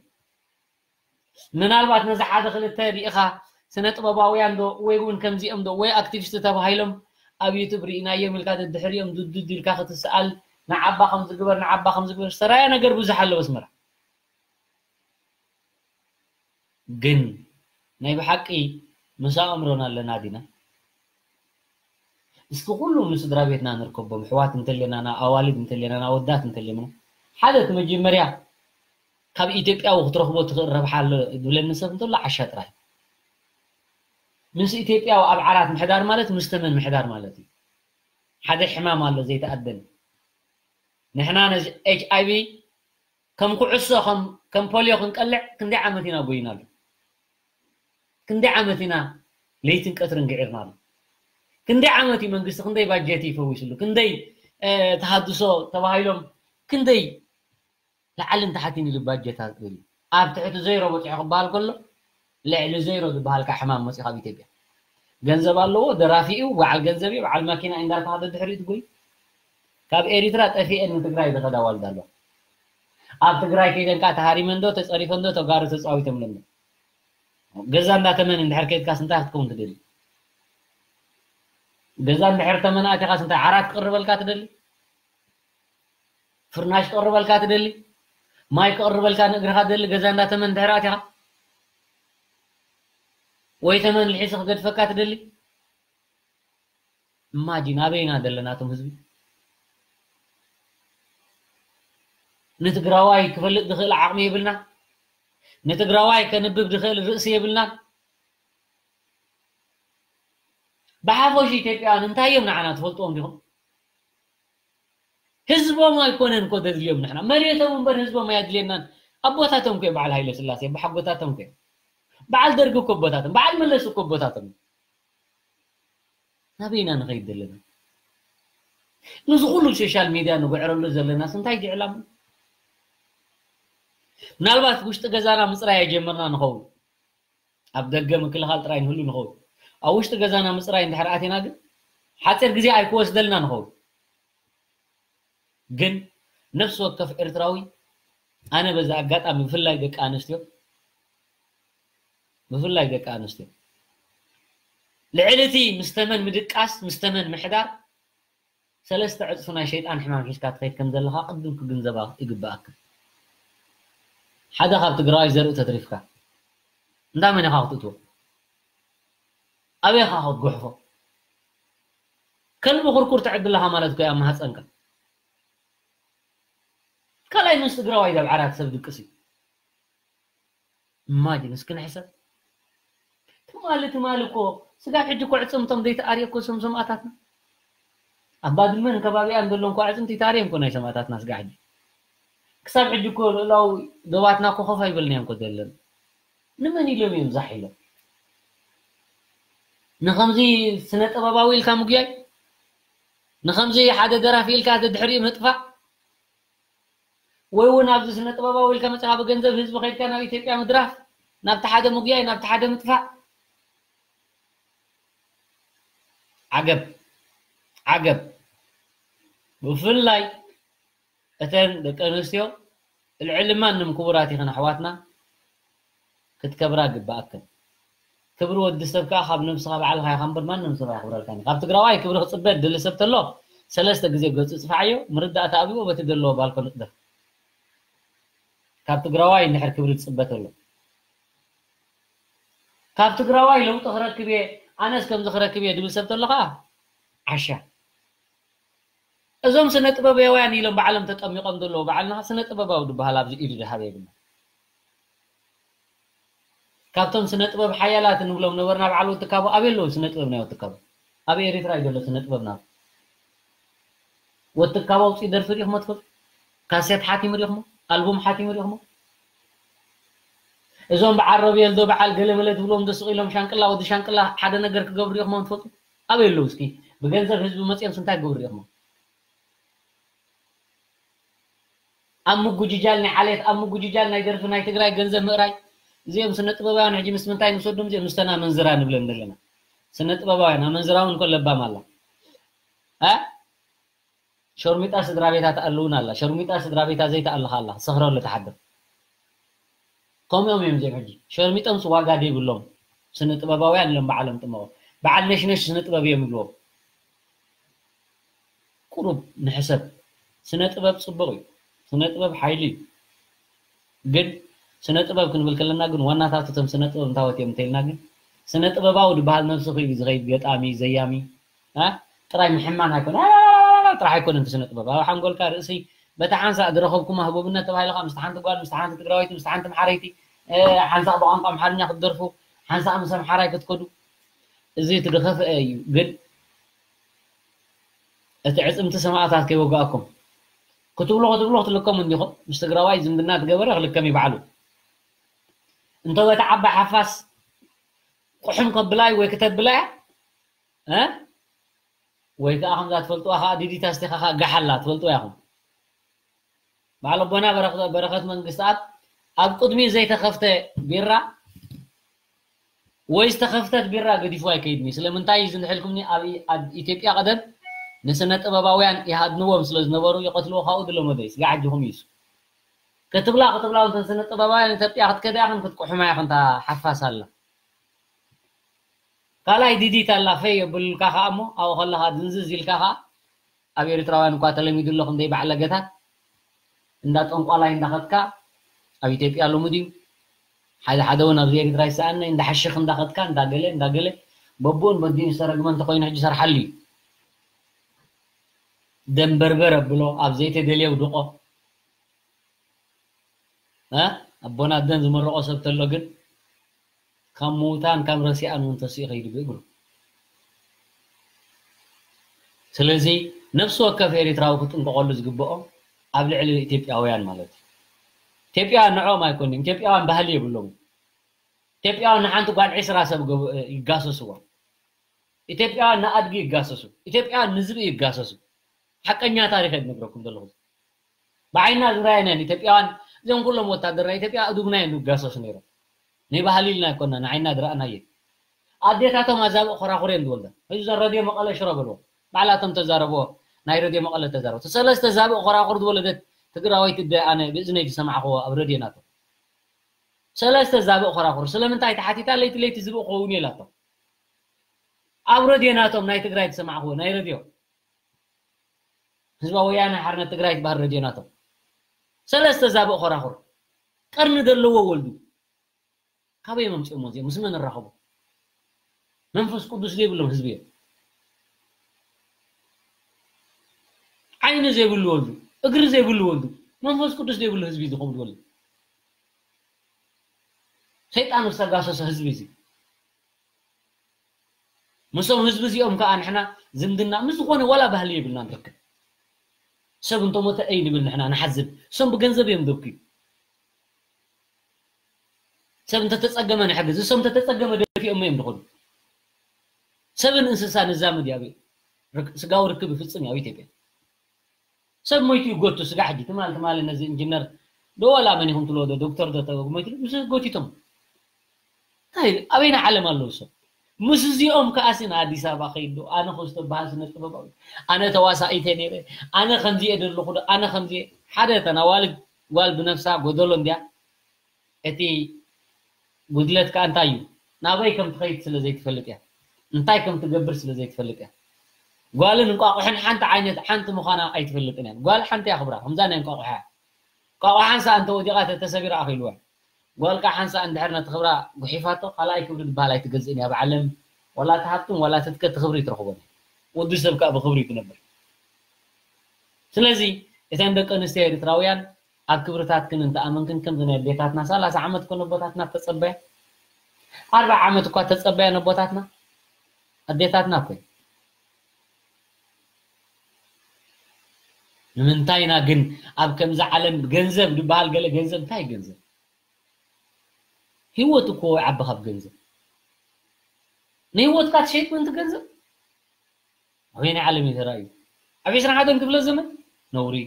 ምናልባት ነዚ ሓደ ክልተ ሪኢኻ ስነ ጥበባውያን ዶ ወይ እውን ከምዚኦም ዶ ወይ ኣክቲቪስት ተባሂሎም ኣብ ዩቱብ ርኢናዮም ኢልካ ደድሕሪኦም ዱዱድ ኢልካ ክትስኣል ንዓባ ከም ዝግበር ንዓባ ከም ዝግበር ዝተራያ ነገር ብዙሕ ኣለዎ ኣስመራ። ግን ናይ ብሓቂ ምስ ኣእምሮና ኣለና ዲና? እስኪ ኩሉ ንስድራ ቤትና ንርከቦም፣ ኣሕዋት እንተሌናና፣ ኣዋልድ እንተሌናና፣ ኣወዳት እንተሌናና፣ ሓደ እቲ መጀመርያ ካብ ኢትዮጵያዊ ክትረኽቦ ትኽእል ረብሓ ኣሎ ዝብለኒ ሰብ እንተሎ ዓሻ ጥራይ። ምስ ኢትዮጵያዊ ኣብ ዓራት ምሕዳር ማለት ምስ ተመን ምሕዳር ማለት እዩ። ሓደ ሕማም ኣሎ ዘይተኣደነ። ንሕና ነዚ ኤች ኣይ ቪ ከም ኩዕሶ ከም ከም ፖልዮ ክንቀልዕ ክንደይ ዓመት ኢና ጎይናሉ? ክንደይ ዓመት ኢና ለይትን ቀትርን ግዒርናሉ? ክንደይ ዓመት እዩ መንግስቲ ክንደይ ባጀት እዩ ፈዊስሉ? ክንደይ ተሃድሶ ተባሂሎም ክንደይ ላዕልን ታሕትን ኢሉ ባጀት ኣጥሪሉ? ኣብ ትሕቲ ዘይሮ በፂሑ ክበሃል ከሎ ልዕሊ ዘይሮ ዝበሃል ከዓ ሕማም መፂኡ ካብ ኢትዮጵያ። ገንዘብ ኣለዎ፣ ደራፊ እዩ፣ በዓል ገንዘብ እዩ፣ በዓል ማኪና እዩ እንዳተባሃለ ድሕሪኡ ትጎይ። ካብ ኤሪትራ ጠፊኤን ንትግራይ ዝኸዳ ዋልዳ ኣለዋ። ኣብ ትግራይ ከይደን ከዓ ተሃሪመን ዶ ተፀሪፈን ዶ ተጋሩ ተፃዊቶምለን ዶ? ገዛ እንዳተመን እንድሕር ከይድካስ እንታይ ክትከውን ትደሊ? ገዛ እንድሕር ተመን ኣቲኻስ እንታይ ዓራት ክቕርበልካ ትደሊ? ፍርናሽ ክቕርበልካ ትደሊ? ማይ ክቕርበልካ ንእግርኻ ትደሊ? ገዛ እንዳተመን እንድሕር ኣቲኻ ወይ ተመን ልሒሱ ክገድፈካ ትደሊ? እማጂን ኣበይና ዘለና እቶም ህዝቢ? ንትግራዋይ ክፈልጥ ዝኽእል ዓቕሚ የብልና። ንትግራዋይ ከንብብ ዝኽእል ርእሲ የብልና። ብሓፈሽ ኢትዮጵያውያን እንታይ እዮም ንዓና ትፈልጥዎም ዲኹም? ህዝቦም ኣይኮነን እኮ ዘድልዮም ንሕና መሬቶም እምበር ህዝቦም ኣየድልየናን። ኣቦታቶም እኮ እዮም በዓል ሃይለ ስላሴ ኣቦሓጎታቶም እኮ እዮም። በዓል ደርጊ እኮ ኣቦታቶም በዓል መለስ እኮ ኣቦታቶም እዮም። ናበይና ንኸይድ ዘለና? ነዚ ኩሉ ሶሻል ሚድያ ንጉዕረሉ ዘለናስ እንታይ እዩ ዕላማ? ምናልባት ውሽጢ ገዛና ምፅራይ ኣይጀመርና ንኸውን። ኣብ ደገ ምክልኻል ጥራይ ንህሉ ንኸውን። ኣብ ውሽጢ ገዛና ምፅራይ እንድሕር ኣቲና ግን ሓፂር ግዜ ኣይክወስደልና ንኸውን። ግን ነፍሲ ወከፍ ኤርትራዊ ኣነ በዚ ኣጋጣሚ ብፍላይ ደቂ ኣንስትዮ ብፍላይ ደቂ ኣንስትዮ ልዕሊ እቲ ምስ ተመን ምድቃስ ምስ ተመን ምሕዳር ሰለስተ ዕፅፊ ናይ ሸይጣን ሕማም ሒዝካ ትኸይድ ከም ዘለኻ ቅድም ክግንዘባ ይግበኣካ። ሓደ ካብ ትግራዋይ ዘርኢ ተትሪፍካ እንዳ መን ኢኻ ክትእትዎ? ኣበይ ኢኻ ክትጉሕፎ? ከልቢ ኩርኩር ተዕቢ ኣለኻ ማለት እኮ እዩ ኣብ ማህፀንካ። ካልኣይ ምስ ትግራዋይ ኣብ ዓራት ሰብ ድቅስ እዩ። ኢማጂን እስኪ ንሕሰብ። ትማሊ ትማሊ እኮ ስጋብ ሕጂ እኮ ዕፅምቶም ዘይተኣርየ እኮ እዞም ሰማእታትና ኣብ ባድመን ከባቢኣን ዘሎ እንኳ ዕፅምቲ ይተኣርየ እንኮ ናይ ሰማእታትና ስጋብ ሕጂ። ክሳብ ሕጂ እኮ ልእላዊ ዶባትና እኮ ኮፍ ኣይበልናዮ እንኮ ዘለና። ንመን ኢሎም እዮም ዛሕ ኢሎም? ንኸምዚ ስነ ጥበባዊ ኢልካ ምጉያይ፣ ንኸምዚ ሓደ ደራፊ ኢልካ ደድሕሪኡ ምጥፋእ፣ ወይ እውን ኣብዚ ስነ ጥበባዊ ኢልካ መፅኻ ብገንዘብ ህዝቢ ከይድካ ናብ ኢትዮጵያ ምድራፍ፣ ናብቲ ሓደ ምጉያይ፣ ናብቲ ሓደ ምጥፋእ። ዓገብ ዓገብ። ብፍላይ እተን ደቂ ኣንስትዮ ልዕሊ ማንም ክቡራት ኢኽን ኣሕዋትና፣ ክትከብራ ግባኣክን። ክብሪ ወዲ ሰብ ከኣ ካብ ነብስኻ ባዕልኻ ኢኻ እምበር ማንም ሰብ ኣየኽብረልካን እዩ። ካብ ትግራዋይ ክብሪ ክጽበ ድሊ ሰብ ተሎ ሰለስተ ግዜ ገጹ ጽፋዓዮ፣ ምርዳእታ ኣብዎ በቲ ዘለዎ ባልኮ ንጥደፍ። ካብ ትግራዋይ እንድሕር ክብሪ ትጽበ ተሎ፣ ካብ ትግራዋይ ለውጢ ክረክብ እየ፣ ኣነስ ከምዚ ክረክብ እየ ድብል ሰብ ተሎ ከኣ ዓሻ። እዞም ስነ ጥበባውያን ኢሎም ባዕሎም ተጠሚቆም ዘለዉ፣ ባዕልና ስነ ጥበባዊ ዝበሃል ኣብዚ ኢዱ ዝሃበ የብልና። ካብቶም ስነ ጥበብ ሓያላት እንብሎም ነበርና በዓል ወትካቦ ኣበይ ኣለዉ? ስነ ጥበብ ናይ ወትካቦ ኣብ ኤሪትራ እዩ ዘሎ ስነ ጥበብና። ወትካቦ ኣውፂኡ ደርፊ ሪኢኹሞ ትፈልጡ? ካሴት ሓቲሙ ሪኢኹሞ? ኣልቡም ሓቲሙ ሪኢኹሞ? እዞም በዓል ሮቤል ዶ በዓል ገለመለ ትብሎም ዶ ስቕ ኢሎም ሻንቅላ ወዲ ሻንቅላ ሓደ ነገር ክገብሩ ሪኢኹሞም ትፈልጡ? ኣበይ ኣለዉ እስኪ? ብገንዘብ ህዝቢ መፂኦምስ እንታይ ክገብሩ ሪኢኹሞም? ኣብ ምጉጅጃል ናይ ዓሌት፣ ኣብ ምጉጅጃል ናይ ደርፊ ናይ ትግራይ ገንዘብ ምእራይ። እዚኦም ስነ ጥበባውያን ሕጂ ምስ ምንታይ ንሰዶም? እዚኦም ምስተን ኣመንዝራ ንብለን ዘለና። ስነ ጥበባውያን ኣመንዝራ እውን እኮ ለባም ኣላ። እ? ሸርሚጣ ስድራ ቤታ ትኣልውን ኣላ። ሸርሚጣ ስድራ ቤታ ዘይትኣልኻ ኣላ። ሰኽረሉ ትሓድር። ከምኦም እዮም እዚኦም ሕጂ። ሸርሚጦምስ ዋጋ ዘይብሎም ስነ ጥበባውያን ኢሎም ባዕሎም ጥመቑ። በዓል ነሽነሽ ስነ ጥበብ እዮም ይብልዎም። ቁሩብ ንሕሰብ። ስነ ጥበብ ጽቡቕ እዩ። ስነ ጥበብ ሓይሊ እዩ። ግን ስነ ጥበብ ክንብል ከለና ግን ዋናታት እቶም ስነ ጥበብ እንታወት እዮም እንተኢልና ግን ስነ ጥበባዊ ዝበሃል ነብሱ ክኢሉ ዝኸይድ ገጣሚ፣ ዘያሚ፣ እ? ጥራይ ምሕማን ኣይኮነ፣ ጥራሕ ኣይኮነን እቲ ስነ ጥበብ። ኣብ ሓንጎልካ ርእሲ በታ ሓንሳእ ዝረኸብኩማ ህቡብነት ተባሂልካ ምስቲ ሓንቲ ጓል፣ ምስቲ ሓንቲ ትግራወይቲ፣ ምስቲ ሓንቲ ኣምሓረይቲ፣ እ፣ ሓንሳእ ብቋንቋ ኣምሓርኛ ክትደርፉ፣ ሓንሳእ ምስ ኣምሓራይ ክትከዱ፣ እዚ እቲ ዝኸፍአ እዩ። ግን እቲ ዕፅምቲ ሰማእታት ከይወጋእኩም ክትብሎ ክትብሎ ክትልከሙ እንዲኹም። ምስ ትግራዋይ ዝምድና ትገበረ ክልከም ይባዕሉ። እንተ በታ ዓባይ ሓፋስ ቁሕም ከብላይ ወይ ክተብላያ፣ እ? ወይ ከዓ ከምዛ ትፈልጥዋ ከዓ ዲዲት ኣስቲኻ ከዓ ጋሓላ ትፈልጥዋ ኢኹም። በዓል ኣቦና በረኸ-፣ በረኸት መንግስትኣብ ኣብ ቅድሚኡ ዘይተኸፍተ ቢራ ወይ ዝተኸፍተት ቢራ ገዲፉ ኣይከይድን እዩ። ስለምንታይ እዩ ዝንሕልኩምኒ? ኣብ ኢ-፣ ኣብ ኢትዮጵያ ቀደም ንስነ ጥበባውያን ይሃድንዎም ስለ ዝነበሩ ይቐትልዎ ካብኡ ድለመዶ እዩ። ስጋዕ ኣጆኹም እዩ እሱ። ክትብላ ክትብላ እንተን ስነ ጥበባውያን ኢትዮጵያ ክትከዳ ኢኽን ክትቁሕማ ኢኽን እታ ሓፋስ ኣላ። ካልኣይ ዲዲት ኣላ ፈይ የብልካ ከኣ እሞ ኣብኡ ከለኻ ድንዝዝ ኢልካ ከኣ ኣብ ኤርትራውያን እኳ ተለሚዱ ኣሎ ክንደይ ባዕለገታት እንዳ ጠንቋላይ እንዳኸድካ ኣብ ኢትዮጵያ ልሙድ እዩ። ሓደ ሓደ እውን ኣብዚ ኤርትራ ይሰኣነ እንዳ ሓሽኽ እንዳኸድካ እንዳገለ እንዳገለ በብኡን በዲኡን ዝተረግመ እንተኾይኑ ሕጂ ሰርሓሉ እዩ። ደንበርበር ኣብሎ ኣብ ዘይተደልየ ውድቆ እ ኣቦና ኣደን ዝመረቆ ሰብ ተሎ ግን ካብ ምውታን ካብ ረሲኣን እውን ተሲኡ ከይዱ ብእግሩ። ስለዚ ነፍሲ ወከፍ ኤርትራዊ ክጥንቀቀሉ ዝግብኦ ኣብ ልዕሊ ኢትዮጵያውያን ማለት እዩ። ኢትዮጵያውያን ንዕኦም ኣይኮኑን፣ ኢትዮጵያውያን ባህሊ የብሎም። ኢትዮጵያውያን ንሓንቲ ጓል ዕስራ ሰብ ገብ-፣ ይጋሰስዎ። ኢትዮጵያውያን ንኣድጊ ይጋሰሱ። ኢትዮጵያውያን ንዝብኢ ይጋሰሱ። ሓቀኛ ታሪኽ እየ ዝነግረኩም ዘለኹ። ብዓይና ዝረኣየናን ኢትዮጵያውያን እዞም ኩሎም ወታደር ናይ ኢትዮጵያ ኣእዱግና እዮም ዝጋሰሱ ነይሮም። ናይ ባህሊ ኢልና ኣይኮና ንዓይና ዝረኣናዮ። ኣዴታቶም ኣዛብእ ኮራኹር እየን ዝወልዳ። ሕዚ ዘን ረድዮ መቐለ ሽሮ በልዎ። ባዕላቶም ተዛረብዎ። ናይ ረድዮ መቐለ ተዛረቡ። ሰለስተ ዛብእ ኮራኹር ዝወለደት ትግራወይቲ ኣደ ኣነ ብእዝነይ ዝሰማዕኽዎ ኣብ ረድዮ ናቶም። ሰለስተ ዛብእ ኮራኹር ስለምንታይ ተሓቲታ ለይቲ ለይቲ ዝብእ ክኸውን እየ ኢላቶም። ኣብ ረድዮ ናቶም ናይ ትግራይ ዝሰማዕኽዎ ናይ ረድዮ ህዝባዊ ወያነ ሓርነት ትግራይ ትበሃል ረድዮ ናቶም። ሰለስተ ዛብእ ኮራኹር ቀርኒ ዘለዎ ወልዱ። ካበይ መምፅኦም እዚኦም? ምስ መን እራኸቡ? መንፈስ ቅዱስ ዘይብሎም ህዝቢ እዮም። ዓይኒ ዘይብሉ ወልዱ፣ እግሪ ዘይብሉ ወልዱ፣ መንፈስ ቅዱስ ዘይብሉ ህዝቢ ዝኸውን ወልዱ። ሰይጣን ዝተጋሰሰ ህዝቢ እዚ። ምስም ህዝቢ እዚኦም ከዓ ንሕና ዝምድና ምስ ዝኾነ ዋላ ባህሊ የብልና ንርክብ። ሰብ እንተሞተ እይ ንብል ንሕና ንሓዝብ። እሶም ብገንዘብ እዮም ደብክዩ። ሰብ እንተተጸገመ ንሕግዝ። እሶም እንተተጸገመ ደፊኦም እዮም ድኾኑ። ሰብን እንስሳ ንዛመድ ያብ ስጋዊ ርክብ ይፍጽም ያብ ኢትዮጵያ። ሰብ ሞይቱ ይጎቱ ስጋ ሕጂ ትማል ትማል ነዚ ኢንጂነር ዶ ዋላ መን ይኹም ትልዎ ዶ ዶክተር ዶ ተጎ ሞይቱ ምስ ጎቲቶም። እንታይ ኣበይና ዓለም ኣለዉ ሰብ? ምስ እዚኦም ከኣሲ ንኣዲስ ኣበባ ከይድ ዶ ኣነ ክስቶ በሃል ስነ ጥበባዊ ኣነ ተዋሳኢተ ነይረ ኣነ ከምዚ እየ ደለኹ ዶ ኣነ ከምዚ እየ ሓደ ተናዋልድ ጓል ብነፍሳ ጎደሎ እንድያ እቲ ጉድለት ከኣ እንታይ እዩ? ናበይ ከም ትኸይድ ስለ ዘይትፈልጥ እያ። እንታይ ከም ትገብር ስለ ዘይትፈልጥ እያ። ጓልን እንቋቑሕን ሓንቲ ዓይነት ሓንቲ ምዃና ኣይትፈልጥን እያ። ጓል ሓንቲ እያ ክብራ፣ ከምዛ ናይ እንቋቑሖ እያ። እንቋቑሖ ሓንሳእ እንተወዲቓ ተተሰቢራ ኣኺልዋ። ጓል ከኣ ሓንሳእ እንድሕር ነቲ ክብራ ጉሒፋቶ ካልኣይ ክብሪ ዝበሃል ኣይትገዝእን እያ። ብዓለም ዋላ እቲ ሃብትን ዋላ ትትከ እቲ ክብሪ ኣይትረኽቦን እያ። ወዲ ሰብ ከኣ ብኽብሪ እዩ ክነብር። ስለዚ እተን ደቂ ኣንስትዮ ኤርትራውያን ኣብ ክብርታትክን እንተኣመንክን ከምዚ ናይ ኣዴታትና ሰላሳ ዓመት እኮ ነቦታትና ተጸበያ ኣርባዓ ዓመት እኳ ተጸበያ ነቦታትና ኣዴታትና እኮ ንምንታይ ኢና ግን ኣብ ከምዚ ዓለም ገንዘብ ዝበሃል ገለ ገንዘብ እንታይ ገንዘብ ህይወት እኮ ይዓቢ ካብ ገንዘብ ንህይወትካ ትሸይጥ ምንቲ ገንዘብ ኣበየናይ ዓለም እዩ ተራእዩ ኣብ ዕስራን ሓደን ክፍለ ዘመን ነውሪ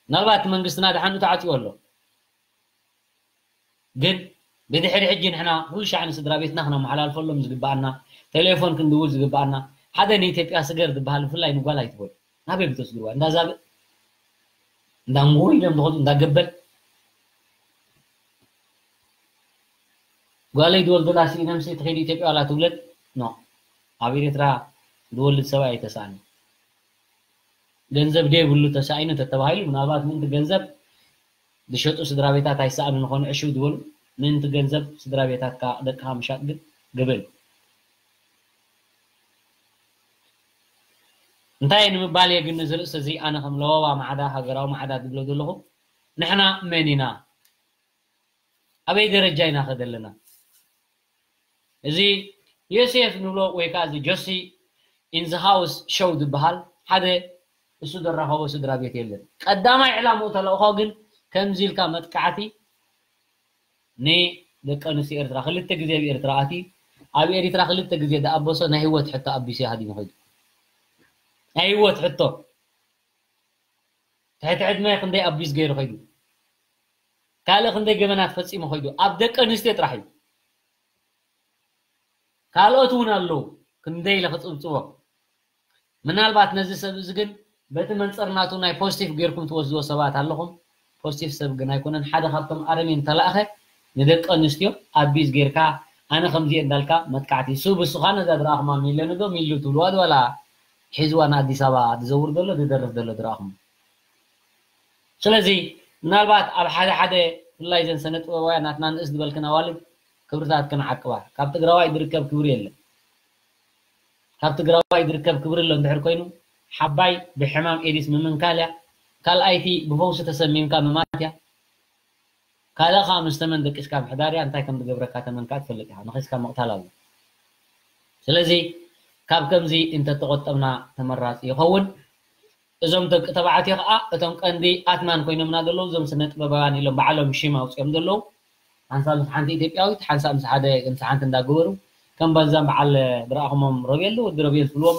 ምናልባት መንግስትና ድሓን ተዓፅዩ ኣሎ ግን ብድሕሪ ሕጂ ንሕና ኩሉ ሻዕ ንስድራ ቤትና ክነመሓላልፈሎም ዝግበኣና ቴሌፎን ክንድውል ዝግበኣና ሓደ ንኢትዮጵያ ስገር ዝበሃል ብፍላይ ንጓል ኣይትበሉ ናበይ ብተስግርዋ እንዳዛብእ እንዳንጎ ኢሎም ዝኸዱ እንዳገበል ጓለይ ድወልደላ ስኢነምሲ ትኸይድ ኢትዮጵያ ዋላ ትውለድ ኖ ኣብ ኤርትራ ዝወልድ ሰብኣይ ኣይተሳእነ ገንዘብ ደይብሉ ተሳኢኑ ተተባሂሉ ምናልባት ምእንቲ ገንዘብ ዝሸጡ ስድራ ቤታት ኣይሰኣኑ ንኾኑ ዕሽው ዝበሉ ምእንቲ ገንዘብ ስድራ ቤታትካ ደቅኻ ምሻጥ ግን ገበን እንታይ ንምባል እየ ግን እዚ ርእሲ እዚ ኣነ ከም ለበዋ ማዕዳ ሃገራዊ ማዕዳ ዝብሎ ዘለኹ ንሕና መን ኢና ኣበይ ደረጃ ኢና ከደ ኣለና እዚ ዮሴፍ ንብሎ ወይ ከዓ እዚ ጆሲ ኢንዚ ሃውስ ሾው ዝበሃል ሓደ እሱ ዘራኸቦ ስድራ ቤት የለን ቀዳማይ ዕላምኡ ተለእኾ ግን ከምዚ ኢልካ መጥቃዕቲ ንደቂ ኣንስትዮ ኤርትራ ክልተ ግዜ ኣብ ኤርትራ ኣትዩ ኣብ ኤሪትራ ክልተ ግዜ ዝኣበሶ ናይ ህይወት ሕቶ ኣቢሱ ሃዲሙ ኸይዱ ናይ ህይወት ሕቶ ትሕቲ ዕድመ ክንደይ ኣቢዝ ገይሩ ኸይዱ ካልእ ክንደይ ገበናት ፈጺሙ ኸይዱ ኣብ ደቂ ኣንስትዮ ጥራሕ እዩ ካልኦት እውን ኣለዉ ክንደይ ኢለ ክጽብጽቦ ምናልባት ነዚ ሰብ እዚ ግን በቲ መንጸር ናቱ ናይ ፖዚቲቭ ጌርኩም ትወስድዎ ሰባት ኣለኹም ፖዚቲቭ ሰብ ግን ኣይኮነን ሓደ ካብቶም ኣረሜን ተላእኸ ንደቂ ኣንስትዮ ኣቢዝ ጌርካ ኣነ ከምዚ እንዳልካ መጥቃዕቲ ሱብ እሱኻ ነዛ ዝረኣኹማ ሚለኒ ዶ ሚሉ ትብልዋ ዶ ዋላ ሒዝዋ ንኣዲስ ኣበባ ዝዘውር ዘሎ ዝደርፍ ዘሎ ዝረኣኹም ስለዚ ምናልባት ኣብ ሓደ ሓደ ብፍላይ ዘን ሰነ ጥበባውያን ናትና ንእስ ዝበልክን ኣዋልድ ክብርታትክን ዓቅባ ካብ ትግራዋይ ዝርከብ ክብሪ የለን ካብ ትግራዋይ ዝርከብ ክብሪ ኣሎ እንድሕር ኮይኑ ሓባይ ብሕማም ኤዲስ ምምንካል እያ ካልኣይቲ ብፈውሲ ተሰሚምካ ምማት እያ ካልእ ከዓ ምስ ተመን ደቂስካ ምሕዳር እያ እንታይ ከም ዝገብረካ ተመን ከዓ ትፈልጥ ኢኻ ነኺስካ ምቕታል ኣሎ ስለዚ ካብ ከምዚ እንተተቆጠብና ተመራፂ ይኸውን እዞም ደቂ ተባዕትዮ ከዓ እቶም ቀንዲ ኣትማን ኮይኖምና ዘለዉ እዞም ስነ ጥበባውያን ኢሎም ባዕሎም ሽም ኣውፅኦም ዘለዉ ሓንሳ ምስ ሓንቲ ኢትዮጵያዊት ሓንሳ ምስ ሓደ ምስ ሓንቲ እንዳገበሩ ከም በዛም በዓል ዝረኣኹሞም ረቤል ወዲ ረቤል ትብልዎም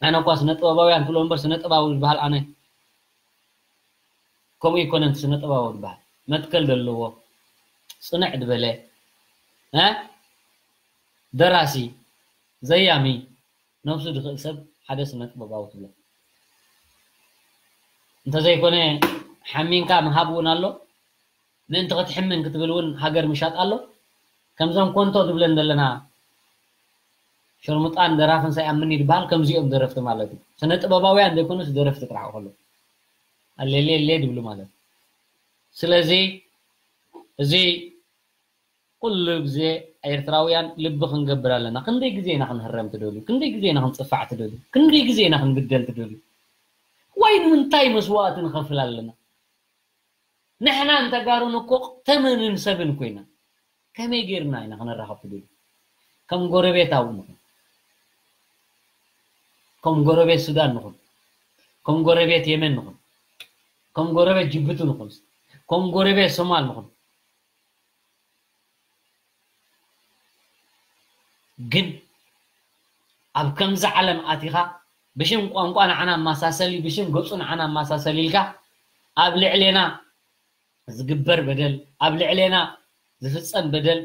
ኣነ እኳ ስነ ጥበባውያን ትብሎ እምበር ስነ ጥበባዊ ዝበሃል ኣነ ከምኡ ይኮነን ስነ ጥበባዊ ዝበሃል መትከል ዘለዎ ፅንዕ ዝበለ ደራሲ ዘያሚ ነብሱ ዝኽእል ሰብ ሓደ ስነ ጥበባዊ ትብሎ እንተዘይኮነ ሓሚንካ ምሃብ እውን ኣሎ ምእንቲ ክትሕምን ክትብል እውን ሃገር ምሻጥ ኣሎ ከምዞም ኮንቶ ዝብለን ዘለና ሸርሙጣን ደራፍን ሳይኣምኒ ዝበሃል ከምዚኦም ደረፍቲ ማለት እዩ ስነ ጥበባውያን ዘይኮኑስ ደረፍቲ ጥራሕ ከሎ ኣሌሌሌ ዝብሉ ማለት እዩ ስለዚ እዚ ኩሉ ግዜ ኤርትራውያን ልቢ ክንገብር ኣለና ክንደይ ግዜ ኢና ክንህረም ትደልዩ ክንደይ ግዜ ኢና ክንፅፋዕ ትደልዩ ክንደይ ግዜ ኢና ክንግደል ትደልዩ ወይ ንምንታይ መስዋእቲ ንኸፍል ኣለና ንሕና ንተጋሩን እኮ ተመንን ሰብን ኮይና ከመይ ጌርና ኢና ክንራኸብ ትደልዩ? ከም ጎረቤት ኣብኡ ንኹን፣ ከም ጎረቤት ሱዳን ንኹን፣ ከም ጎረቤት የመን ንኹን፣ ከም ጎረቤት ጅቡቲ ንኹን፣ ከም ጎረቤት ሶማል ንኹን። ግን ኣብ ከምዚ ዓለም ኣቲኻ ብሽም ቋንቋ ንዓና ኣመሳሰሊ፣ ብሽም ገጹ ንዓና ኣመሳሰሊ ኢልካ ኣብ ልዕሌና ዝግበር በደል፣ ኣብ ልዕሌና ዝፍጸም በደል፣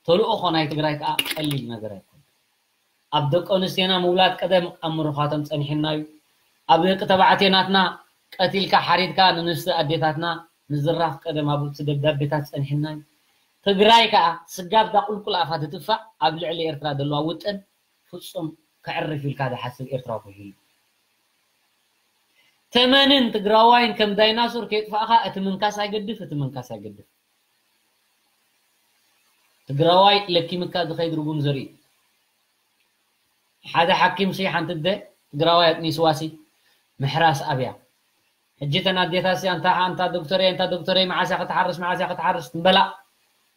ተልእኾ ናይ ትግራይ ከኣ ቀሊል ነገር ኣይኮነን። ኣብ ደቂ ኣንስትዮና ምውላድ ቀደም ኣብ ምርዃቶም ጸኒሕና እዩ። ኣብ ደቂ ተባዕትዮ ናትና ቀቲልካ ሓሪድካ ንንስቲ ኣዴታትና ምዝራፍ ቀደም ኣብ እቲ ደብዳቤታት ጸኒሕና እዩ። ትግራይ ከኣ ስጋብ ዳ ቁልቁል ኣፋ ትትፋእ ኣብ ልዕሊ ኤርትራ ዘለዋ ውጥን ፍጹም ከዕርፍ ኢልካ ዝሓስብ ኤርትራዊ ከይህሉ። ተመንን ትግራዋይን ከም ዳይናሶር ከየጥፋእኻ እቲ ምንካስ ኣይገድፍ፣ እቲ ምንካስ ኣይገድፍ። ትግራዋይ ለኪምካ ዝኸይድ ርጉም ዘርኢ። ሓደ ሓኪም ሲ ሓንቲ ኣደ ትግራዋይ ኣጥኒስዋ ሲ ምሕራስ ኣብያ። ሕጂ እተን ኣዴታት ሲ ኣንታ ኣንታ ዶክተረይ ኣንታ ዶክተረይ መዓስ እያ ክትሓርስ መዓስ እያ ክትሓርስ ትንበላ።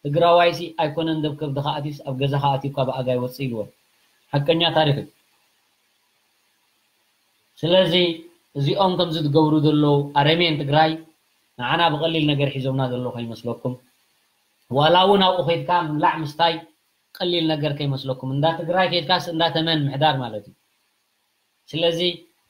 ትግራዋይ ሲ ኣይኮነን ደብ ከብድኻ ኣትዩስ ኣብ ገዛኻ ኣትዩ እኳ ብኣጋ ይወፅእ ኢልወን። ሓቀኛ ታሪክ እዩ። ስለዚ እዚኦም ከምዚ ዝገብሩ ዘለዉ ኣረሜን ትግራይ ንዓና ብቐሊል ነገር ሒዞምና ዘለዉ ከይመስለኩም። ዋላ እውን ኣብኡ ከይድካ ምብላዕ ምስታይ ቀሊል ነገር ከይመስለኩም። እንዳ ትግራይ ከይድካስ እንዳ ተመን ምሕዳር ማለት እዩ። ስለዚ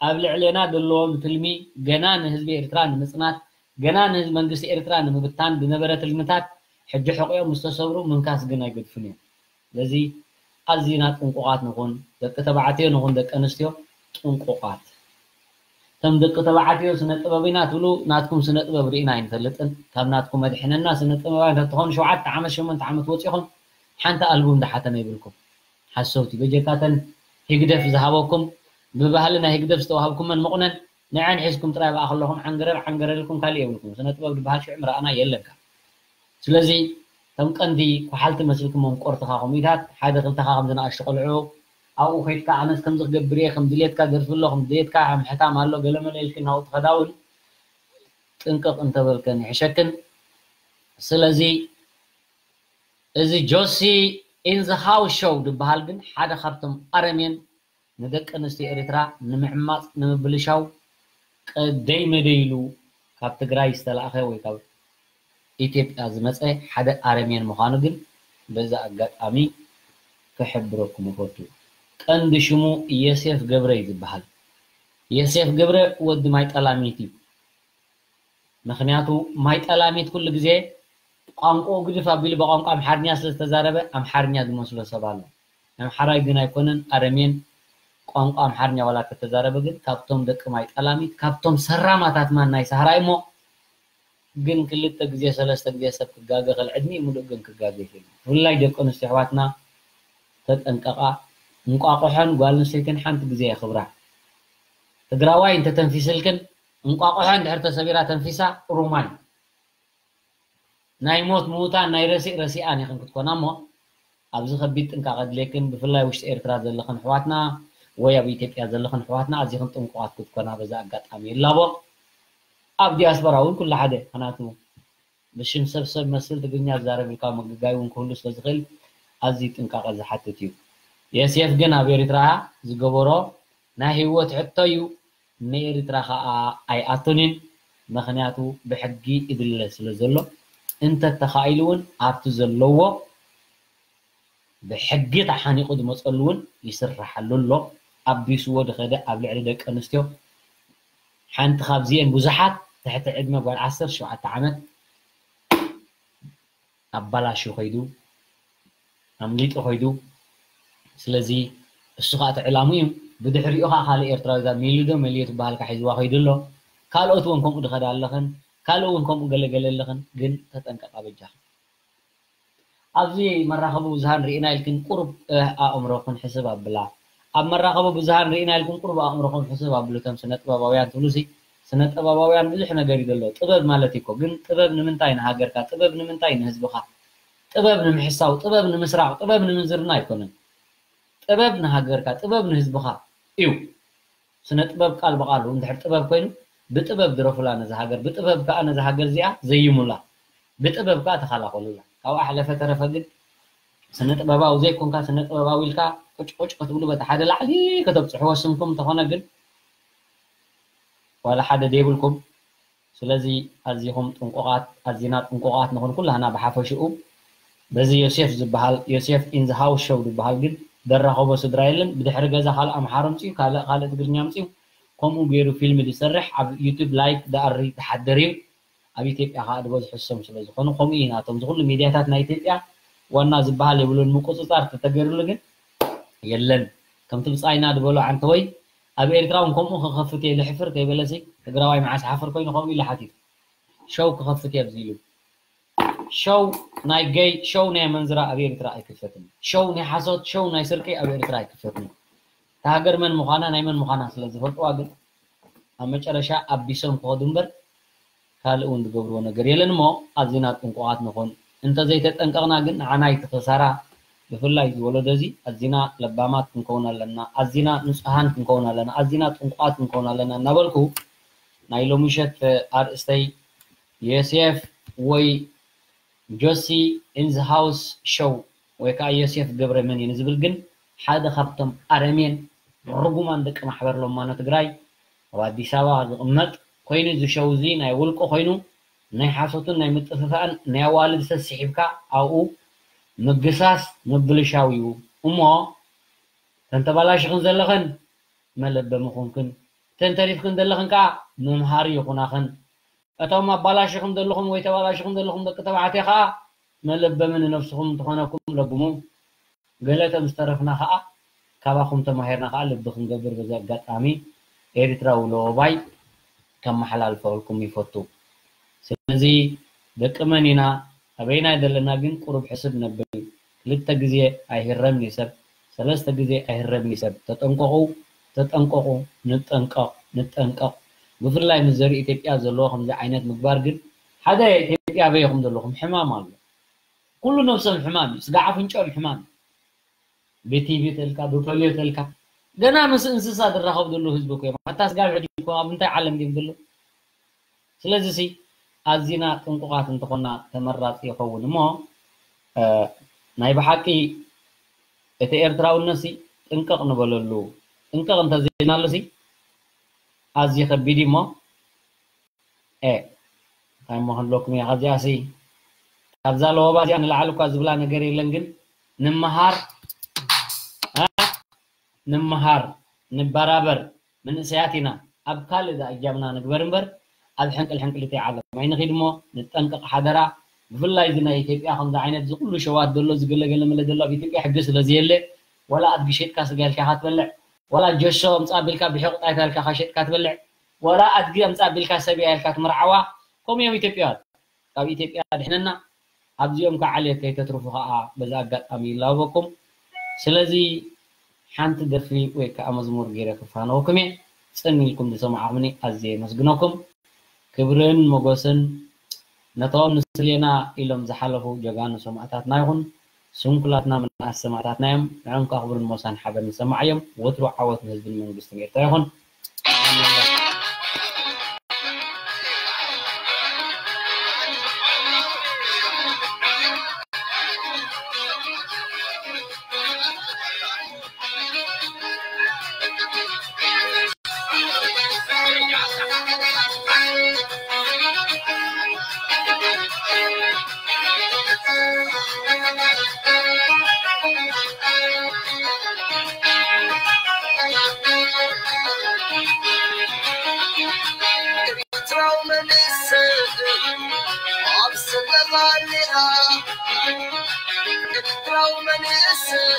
ኣብ ልዕሌና ዘለዎም ትልሚ ገና ንህዝቢ ኤርትራ ንምጽናት፣ ገና ንህዝቢ መንግስቲ ኤርትራ ንምብታን ዝነበረ ትልምታት ሕጂ ሕቑኦም ምስ ተሰብሩ ምንካስ ግን ኣይገድፉን እዮም። ስለዚ ኣዚና ጥንቁቓት ንኹን፣ ደቂ ተባዕትዮ ንኹን ደቂ ኣንስትዮ ጥንቁቓት። ከም ደቂ ተባዕትዮ ስነ ጥበብ ኢና ትብሉ፣ ናትኩም ስነ ጥበብ ርኢና ኣይንፈልጥን። ካብ ናትኩም መድሕነና ስነ ጥበባውያን ተትኾኑ ሸውዓተ ዓመት ሸሞንተ ዓመት ወፂኹም ሓንቲ ኣልቡም ድሓተመ ይብልኩም። ሓሰውቲ በጀካተን ህግደፍ ዝሃበኩም ብባህሊ ናይ ህግደፍ ዝተዋሃብኩመን መቑነን ንዐን ሒዝኩም ጥራይ ብኣ ከለኹም ዓንገረር ዓንገረር ኢልኩም ካሊእ የብልኩም። ስነ ጥበብ ዝበሃል ሽዑ ምረኣና የለንካ። ስለዚ ከም ቀንዲ ኩሓልቲ መስልኩም መምቆርትኻ ኮሚታት ሓደ ክልተኻ ከም ዝነኣሽቱ ቆልዑ ኣብኡ ከይድካ ኣነስ ከምዚ ክገብር እየ ከም ድሌትካ ደርፊ ኣሎ ከም ድሌትካ ምሕታም ኣሎ ገለመለ ኢልክን ናብኡ ትኸዳ እውን ጥንቅቕ እንተበልከን ይሕሸክን። ስለዚ እዚ ጆሲ ኢን ዘ ሃውስ ሾው ዝበሃል ግን ሓደ ካብቶም ኣረሜን ንደቂ ኣንስትዮ ኤርትራ ንምዕማፅ ንምብልሻው ቀደይ መደይ ኢሉ ካብ ትግራይ ዝተላእኸ ወይ ካብ ኢትዮጵያ ዝመፀ ሓደ ኣረሜን ምዃኑ ግን በዚ ኣጋጣሚ ክሕብረኩም እፈቱ። ቀንዲ ሽሙ የሴፍ ገብረ እዩ ዝበሃል። የሴፍ ገብረ ወዲ ማይ ጠላሚት እዩ። ምኽንያቱ ማይ ጠላሚት ኩሉ ግዜ ቋንቋኡ ግድፍ ኣቢሉ ብቋንቋ ኣምሓርኛ ስለ ዝተዛረበ ኣምሓርኛ ዝመስሎ ሰብ ኣሎ። ኣምሓራይ ግን ኣይኮነን ኣረሜን ቋንቋ ኣምሓርኛ ዋላ ተተዛረበ ግን ካብቶም ደቂ ማይ ጠላሚት ካብቶም ሰራማታት ማን ናይ ሳህራይ እሞ ግን ክልተ ግዜ ሰለስተ ግዜ ሰብ ክጋገ ከል ዕድሚኡ ሙሉእ ግን ክጋገ ይኽእል እዩ። ብፍላይ ደቂ ኣንስትዮ ኣሕዋትና ተጠንቀቓ። እንቋቑሖን ጓል ኣንስተይትን ሓንቲ ግዜ የኽብራ። ትግራዋይ እንተተንፊስልክን እንቋቑሖ እንድሕር ተሰቢራ ተንፊሳ ሩማይ ናይ ሞት ምዉታን ናይ ረሲእ ረሲኣን ኢኽን ክትኮና እሞ ኣብዚ ከቢድ ጥንቃቐ ድሌክን ብፍላይ ውሽጢ ኤርትራ ዘለኽን ኣሕዋትና ወይ ኣብ ኢትዮጵያ ዘለኽን ኣሕዋትና ኣዚኽን ጥንቁቓት ክትኮና በዚ ኣጋጣሚ ይላቦ። ኣብ ዲያስፖራ እውን ኩሉ ሓደ ምኽንያቱ ብሽም ሰብ ሰብ መስል ትግርኛ ዝዛረብ ኢልካ ምግጋይ እውን ክህሉ ስለ ዝኽእል ኣዝዩ ጥንቃቐ ዝሓትት እዩ። የሴፍ ግን ኣብ ኤርትራ ዝገበሮ ናይ ህይወት ሕቶ እዩ። ንኤርትራ ኸኣ ኣይኣቱንን፣ ምኽንያቱ ብሕጊ ይድለ ስለ ዘሎ፣ እንተተኻኢሉ እውን ኣብቲ ዘለዎ ብሕጊ ተሓኒቑ ዝመፀሉ እውን ይስርሓሉ ኣሎ። ኣቢስዎ ዝኸደ ኣብ ልዕሊ ደቂ ኣንስትዮ ሓንቲ ካብዚኤን ብዙሓት ትሕቲ ዕድመ ጓል ዓሰርተ ሸውዓተ ዓመት ኣባላሹ ኸይዱ ኣምሊጡ ኸይዱ። ስለዚ እሱ ከዓ እቲ ዕላሙ እዩ። ብድሕሪኡ ከዓ ካልእ ኤርትራዊ እዛ ሜሉ ዶ መሊዮ ትበሃል ከዓ ሒዝዋ ኸይዱ ኣሎ። ካልኦት እውን ከምኡ ድኸዳ ኣለኽን ካልእ እውን ከምኡ ገለገለ ኣለኽን፣ ግን ተጠንቀቃ በጃኽን። ኣብዚ መራኸቢ ብዙሃን ርኢና ኢልክን ቁሩብ ኣእምሮኽን ሕስብ ኣብላ። ኣብ መራኸቢ ብዙሃን ርኢና ኢልክን ቁሩብ ኣእምሮኹም ሕስብ ኣብሉ። እቶም ስነ ጥበባውያን ትብሉሲ ስነ ጥበባውያን ብዙሕ ነገር እዩ ዘሎ። ጥበብ ማለት እኮ ግን ጥበብ ንምንታይ ንሃገርካ? ጥበብ ንምንታይ ንህዝብኻ? ጥበብ ንምሕሳው፣ ጥበብ ንምስራቕ፣ ጥበብ ንምንዝርና ኣይኮነን። ጥበብ ንሃገርካ፣ ጥበብ ንህዝብኻ እዩ። ስነ ጥበብ ቃል ብቃሉ እንድሕር ጥበብ ኮይኑ ብጥበብ ድረፉላ ነዛ ሃገር፣ ብጥበብ ከዓ ነዛ ሃገር እዚኣ ዘይሙላ፣ ብጥበብ ከዓ ተኸላኸሉላ። ካብኣ ሕለፈ ተረፈ ግን ስነ ጥበባዊ ዘይኮንካ፣ ስነ ጥበባዊ ኢልካ ቁጭ ቁጭ ክትብሉ በቲ ሓደ ላዕሊ ከተብፅሕዎ ስምኩም እንተኾነ ግን ዋላ ሓደ ደይብልኩም። ስለዚ ኣዚኹም ጥንቁቓት፣ ኣዚና ጥንቁቓት ንኹን ኩላህና ብሓፈሽኡ። በዚ ዮሴፍ ዝበሃል፣ ዮሴፍ ኢን ዘ ሃውስ ሾው ዝበሃል ግን ደራኸቦ ስድራ የለን። ብድሕሪ ገዛ ካልእ ኣምሓሩ ኣምፅኡ፣ ካልእ ካልእ ትግርኛ ኣምፅኡ፣ ከምኡ ገይሩ ፊልም ዝሰርሕ ኣብ ዩቱብ ላይፍ ደኣሪ ዝሓድር እዩ። ኣብ ኢትዮጵያ ከዓ ዝበዝሑ እሶም ስለ ዝኾኑ ከምኡ እዩ ናቶም። ዝኩሉ ሚድያታት ናይ ኢትዮጵያ ዋና ዝበሃል የብሉን። ምቁፅፃር ተተገይሩሉ ግን የለን። ከምቲ ብፃይና ዝበሎ ዓንተወይ ኣብ ኤርትራ እውን ከምኡ ክኸፍት እየ ልሕፍር ከይበለሲ ትግራዋይ መዓስ ሓፍር ኮይኑ ከምኡ ኢሉ ሓቲቱ። ሸው ክኸፍት እየ ኣብዚ ኢሉ። ሸው ናይ ገይ፣ ሸው ናይ መንዝራ ኣብ ኤርትራ ኣይክፈትን። ሸው ናይ ሓሶት፣ ሸው ናይ ስርቂ ኣብ ኤርትራ ኣይክፈትን። እታ ሃገር መን ምዃና ናይ መን ምዃና ስለ ዝፈልጥዋ ግን ኣብ መጨረሻ ኣቢሶም ክኸዱ እምበር ካልእ እውን ዝገብርዎ ነገር የለን እሞ ኣዚና ጥንቁቓት ንኹን። እንተዘይተጠንቀቕና ግን ንዓና እዩ እቲ ክሳራ። ብፍላይ እዚ ወለዶ እዚ ኣዚና ለባማት ክንከውን ኣለና፣ ኣዚና ንጹሃን ክንከውን ኣለና፣ ኣዚና ጥንቁቓት ክንከውን ኣለና እናበልኩ ናይ ሎሚ ምሸት ኣርእስተይ ዮሴፍ ወይ ጆሲ ኢን ዘ ሃውስ ሾው ወይ ከዓ ዮሴፍ ገብረ መን እዩ ንዝብል ግን ሓደ ካብቶም ኣረሜን ርጉማን ደቂ ማሕበር ሎማኖ ትግራይ ኣብ ኣዲስ ኣበባ ዝቕመጥ ኮይኑ እዚ ሾው እዚ ናይ ውልቁ ኮይኑ ናይ ሓሶትን ናይ ምጥፍፋእን ናይ ኣዋልድ ሰሲሒብካ ኣብኡ ምግሳስ ምብልሻው እዩ እሞ ተንተባላሽኽን ዘለኽን መለበሚ ኹንክን ተንተሪፍክን ዘለኽን ከዓ መምሃሪ ይኹናኽን እቶም ኣባላሽኹም ዘለኹም ወይ ተባላሽኹም ዘለኹም ደቂ ተባዕትዮ ከዓ መለበሚ ንነብስኹም እንትኾነኩም ለብሙ። ገለ ተምዝተረፍና ከዓ ካባኹም ተማሂርና ከዓ ልቢ ክንገብር በዚ ኣጋጣሚ ኤርትራዊ ለወባይ ከመሓላልፈልኩም ይፈቱ። ስለዚ ደቂ መን ኢና ኣበይና ዘለና ግን ቁሩብ ሕስብ ነብል። ክልተ ግዜ ኣይህረምን እዩ ሰብ፣ ሰለስተ ግዜ ኣይህረምን እዩ ሰብ። ተጠንቀቑ፣ ተጠንቀቑ፣ ንጠንቀቕ፣ ንጠንቀቕ። ብፍላይ ምስ ዘርኢ ኢትዮጵያ ዘለዎ ከምዚ ዓይነት ምግባር ግን ሓደ ኢትዮጵያ ኣበይኹም ዘለኹም ሕማም ኣሎ። ኩሉ ነብሶም ሕማም እዩ፣ ስጋ ኣፍንጫኦም ሕማም እዩ። ብቲቪ ተልካ ብፖሊዮ ተልካ ገና ምስ እንስሳ ዝራኸብ ዘሎ ህዝቢ እኮ እዮም። ኣታ ስጋ ብሕጂ እኮ ኣብ እንታይ ዓለም ድዮም ዘሎ? ስለዚ ሲ ኣዚና ጥንቁቓት እንተኾና ተመራፂ ይኸውን እሞ ናይ ብሓቂ እቲ ኤርትራውነት ሲ ጥንቅቕ ንበለሉ። ጥንቅቕ እንተዘይናሉ ሲ ኣዝዩ ከቢድ እዩ እሞ እ እንታይ እሞ ክንብለኩም እየ ካብዚኣ ሲ ካብዛ ለወባ እዚኣ ንላዕሊ እኳ ዝብላ ነገር የለን ግን ንምሃር እ ንምሃር ንበራበር መንእሰያት ኢና ኣብ ካልእ ዝኣጃምና ንግበር እምበር ኣብ ሕንቅል ሕንቅሊተይ ዓለም ኣይንኺድ እሞ ንጠንቀቕ ሓደራ። ብፍላይ እዚ ናይ ኢትዮጵያ ከምዚ ዓይነት እዚ ኩሉ ሸዋት ዘሎ ዝገለገለ መለ ዘሎ ኣብ ኢትዮጵያ ሕጊ ስለ ዘየለ ወላ ኣድጊ ሸጥካ ስጋ ኢልካ ኢኻ ትበልዕ፣ ወላ ጀሾ ኣምጻ ኣቢልካ ብሕቑጣ ኢልካ ሸጥካ ትበልዕ፣ ወላ ኣድጊ ኣምጻ ኣቢልካ ሰብያ ኢልካ ትምርዓዋ። ከምኡ እዮም ኢትዮጵያውያን። ካብ ኢትዮጵያ ድሕነና። ኣብዚኦም ከዓ ዓሌት ከይተትርፉ ከዓ በዚ ኣጋጣሚ ይላበኩም። ስለዚ ሓንቲ ደርፊ ወይ ከዓ መዝሙር ገይረ ክፋነወኩም እየ። ጽን ኢልኩም ዝሰማዕኹምኒ ኣዝየ የመስግነኩም። ክብርን ሞገስን ነቶም ንስሌና ኢሎም ዝሓለፉ ጀጋኑ ሰማእታትና ይኹን። ስንኩላትና ምንኣስ ሰማእታትና እዮም። ንዕኦም ከዓ ክብርን ሞሳን ሓበን ንሰማዓዮም። ወትሩ ዓወት ንህዝብን መንግስትን ኤርትራ ይኹን። ኤርትራዊ መንእሰይ ኣብ ስደት ኣሊኻ፣ ኤርትራዊ መንእሰይ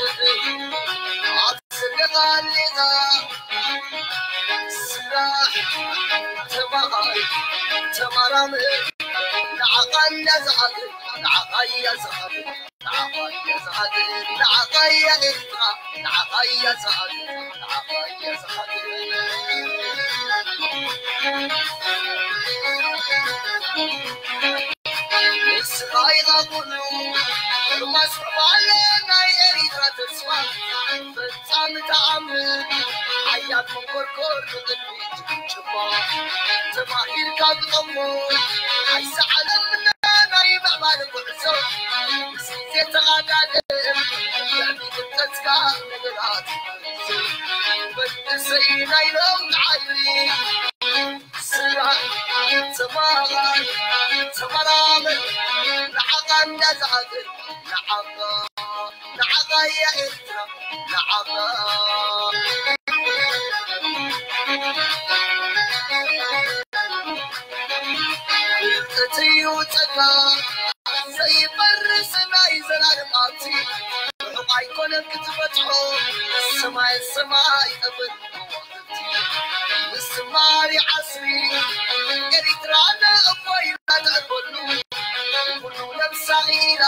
ኣብ ስደት ኣሊኻ፣ ስራሕ፣ ተማሃር፣ ተመራመር፣ ንዓኻ እያ ዝሓትት፣ ንዓኻ እያ ዝሓትት። ኣይሰዓለምና ናይ ምዕባለ ጉዕዞ፣ ምስ ግዜ ተቓዳድም፣ ልዕሊ ፍልጠትካ ነገራት መንእሰይ ናይ ለውጢ ሓይሊ። ስራሕ፣ ተማሃር፣ ተመራመር፣ ንዓኻ እንዳዝኣክል፣ ንዓኻ፣ ንዓኻ እያ ኤርትራ፣ ንዓኻ። ፍልጠት እዩ ጸጋ ዘይፈርስ ናይ ዘላለም ሃብቲ። ርሑቕ ኣይኮነን ክትበጽሖ፣ ሰማይ ሰማይ ጠፈር ከዋኽብቲ። ምስ ዝማሪ ዓስቢ ኤሪትራ ንእፎይታ ተዕርፈሉ። ኩሉ ነብሳ ኢላ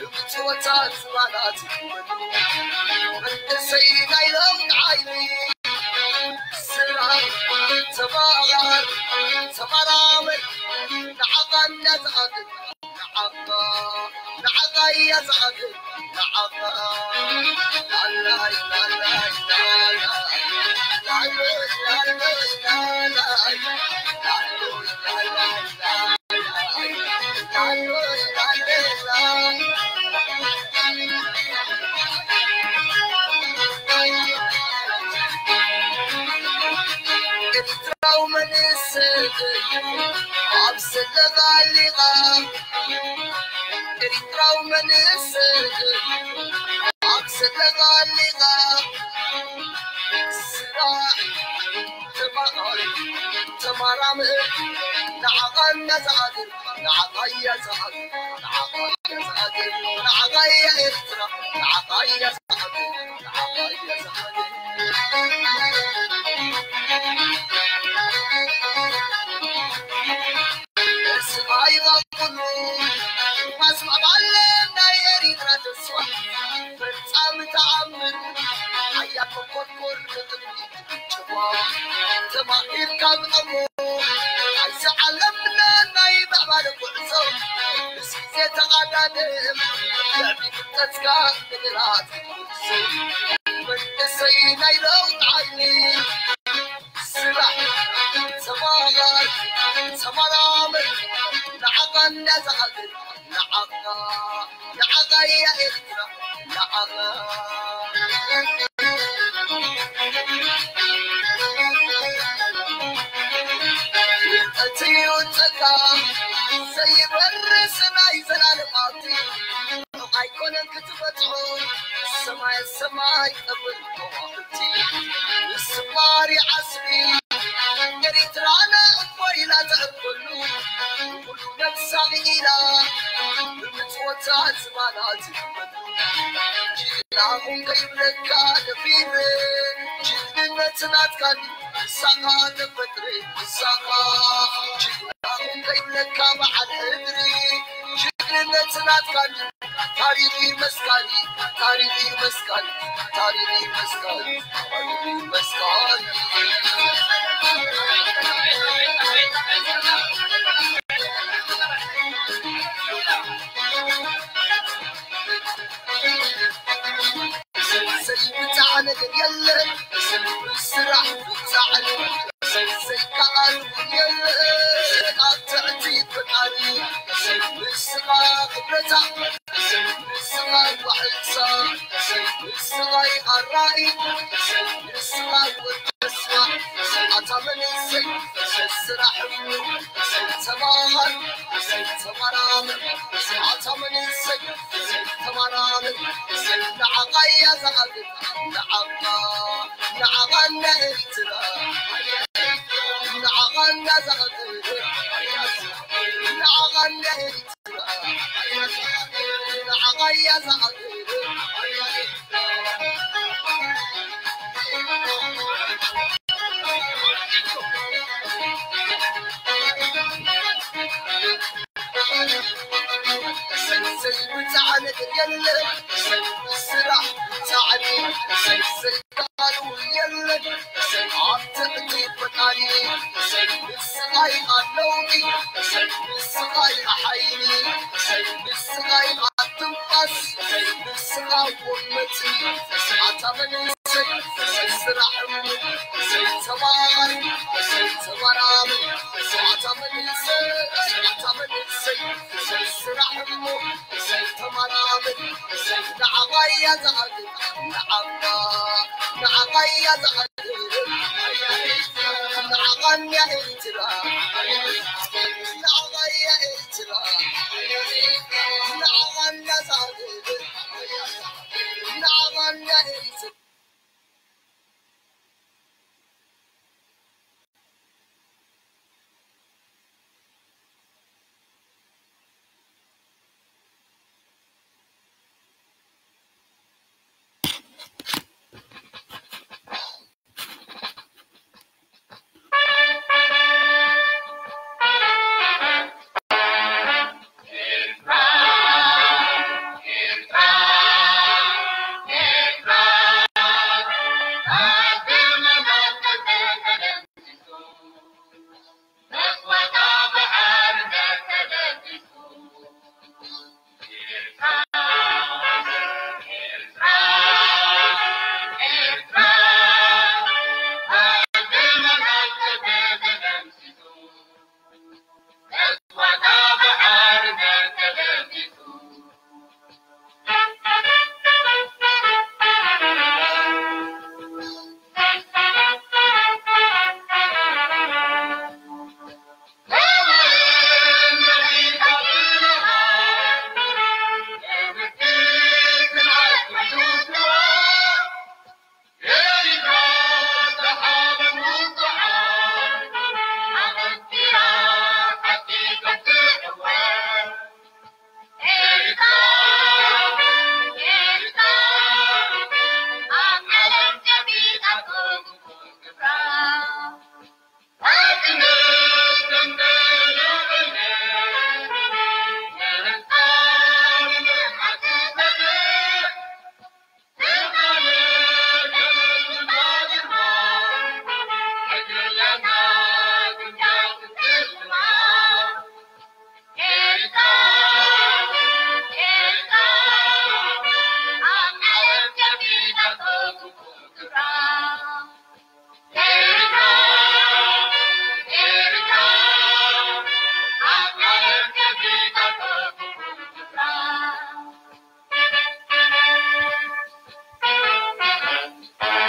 ብምጽወታ ዝባና ትግበሉ። መንእሰይ ናይ ለውጢ ሓይሊ። ስራሕ፣ ተማሃር፣ ተመራመር፣ ንዓኻ እያ ዝኣክል፣ ንዓኻ፣ ንዓኻ እያ ዝኣክል፣ ንዓኻ። ላላይ፣ ላላይ፣ ላላይ፣ ላሎይ፣ ላሎይ፣ ላላይ፣ ላሎይ፣ ላላይ፣ ላሎይ፣ ላሎይ፣ ላሎይ። ኤርትራዊ መንእሰይ ኣብ ዘለኻ ኣሊኻ፣ ኤርትራዊ መንእሰይ ኣብ ዘለኻ ኣሊኻ፣ ስራሕ፣ ተማሃር፣ ተመራመር፣ ንዓኻ እያ ዝኣክል፣ ንዓኻ እያ ዝኣክል፣ ንዓኻ እያ ዝኣክል፣ ንዓኻ እያ ኤርትራ፣ ንዓኻ እያ ዝኣክል፣ ንዓኻ እያ ዝኣክል። ተስፋ ይቐብሉ፣ ማስማማለ ናይ ኤሪትራ ተስፋ፣ ፈጻሚ ተኣምር፣ ሓያል መኮርኮር ንቕድሚት፣ ጭዋ ተማሂርካ ብቐሞ፣ ኣብዚ ዓለምና ናይ ምዕባለ ጉዕዞ፣ ምስ ግዜ ተቓዳደም፣ ልዕሊ ፍልጠትካ ነገራት ትውስን፣ መንእሰይ ናይ ለውጢ ሓይሊ። ስራሕ፣ ተማሃር፣ ተመራመር፣ ንዓኻ እያ ዝኣክል፣ ንዓኻ፣ ንዓኻ እያ ኤርትራ፣ ንዓኻ። ፍልጠት እዩ ጸጋ ዘይበርስ ናይ ዘላለም ሃብቲ፣ ሩቕ ኣይኮነን ክትበጽሖ፣ ሰማይ ሰማይ ቀብር ከዋኽብቲ፣ ምስ ዝማሪ ዓስቢ ኤሪትራና እፎ ኢላ ተዕርፈሉ፣ ኩሉ ነብሳ ኢላ ብምጽወታ ዝባና ትግበሉ። ጅግና ኹን ከይብለካ ደፊረ፣ ጅግንነት ናትካ ድዩ? ንሳኻ ተፈጥረ፣ ንሳኻ ጅግና ኹን ከይብለካ በዓል ሕድሪ፣ ጅግንነት ናትካ ድዩ? ታሪኽ እዩ መስካሪ፣ ታሪኽ እዩ መስካሪ፣ ታሪኽ እዩ መስካሪ፣ ታሪኽ እዩ መስካሪ። ሰይ ብጻዕ ነገር የለን፣ ስራሕ ብጻዕ፣ ሰይ ከኣል የለን፣ ኣብ ትዕቲ ፈጣሪ፣ ንስኻ ክብረታ፣ ንስኻ ዋሕሳ፣ ንስኻ ኣራኢ፣ ንስኻ ወዲ ተስፋ፣ ኣታ መንእሰይ፣ ስራሕ እሞ፣ ተማሃር፣ ተመራመር፣ ኣታ መንእሰይ፣ ተመራመር፣ ንዓኻ እያ ዝኣክል፣ ንዓኻ፣ ንዓኻ እንዳ ኤርትራ፣ ንዓኻ እያ ዝኣክል፣ ንዓኻ እንዳ ኤርትራ። ሰንሰይ ብጻዕ ነገር የለን፣ ስራሕ ብጻዕኒ፣ ሰንሰይ ቃሉ የለን፣ ኣብ ትዕቲ ፈጣሪ፣ ንስኻ ኣለውኒ፣ ንስኻ ሓይሊ፣ ንስኻ ትንፋስ፣ ንስኻ ወመቲ፣ ኣታ መንእሰይ፣ ስራሕ፣ ተማሃር፣ ተመራመር፣ ኣታ እሰይ ስራሕ እሞ እሰይ ተመራመር እሰይ ንዓቐያ ዝዓግብ ንዓቕያ ንዓቐያ ዝዓግብ ንዓቐያ ሂትራ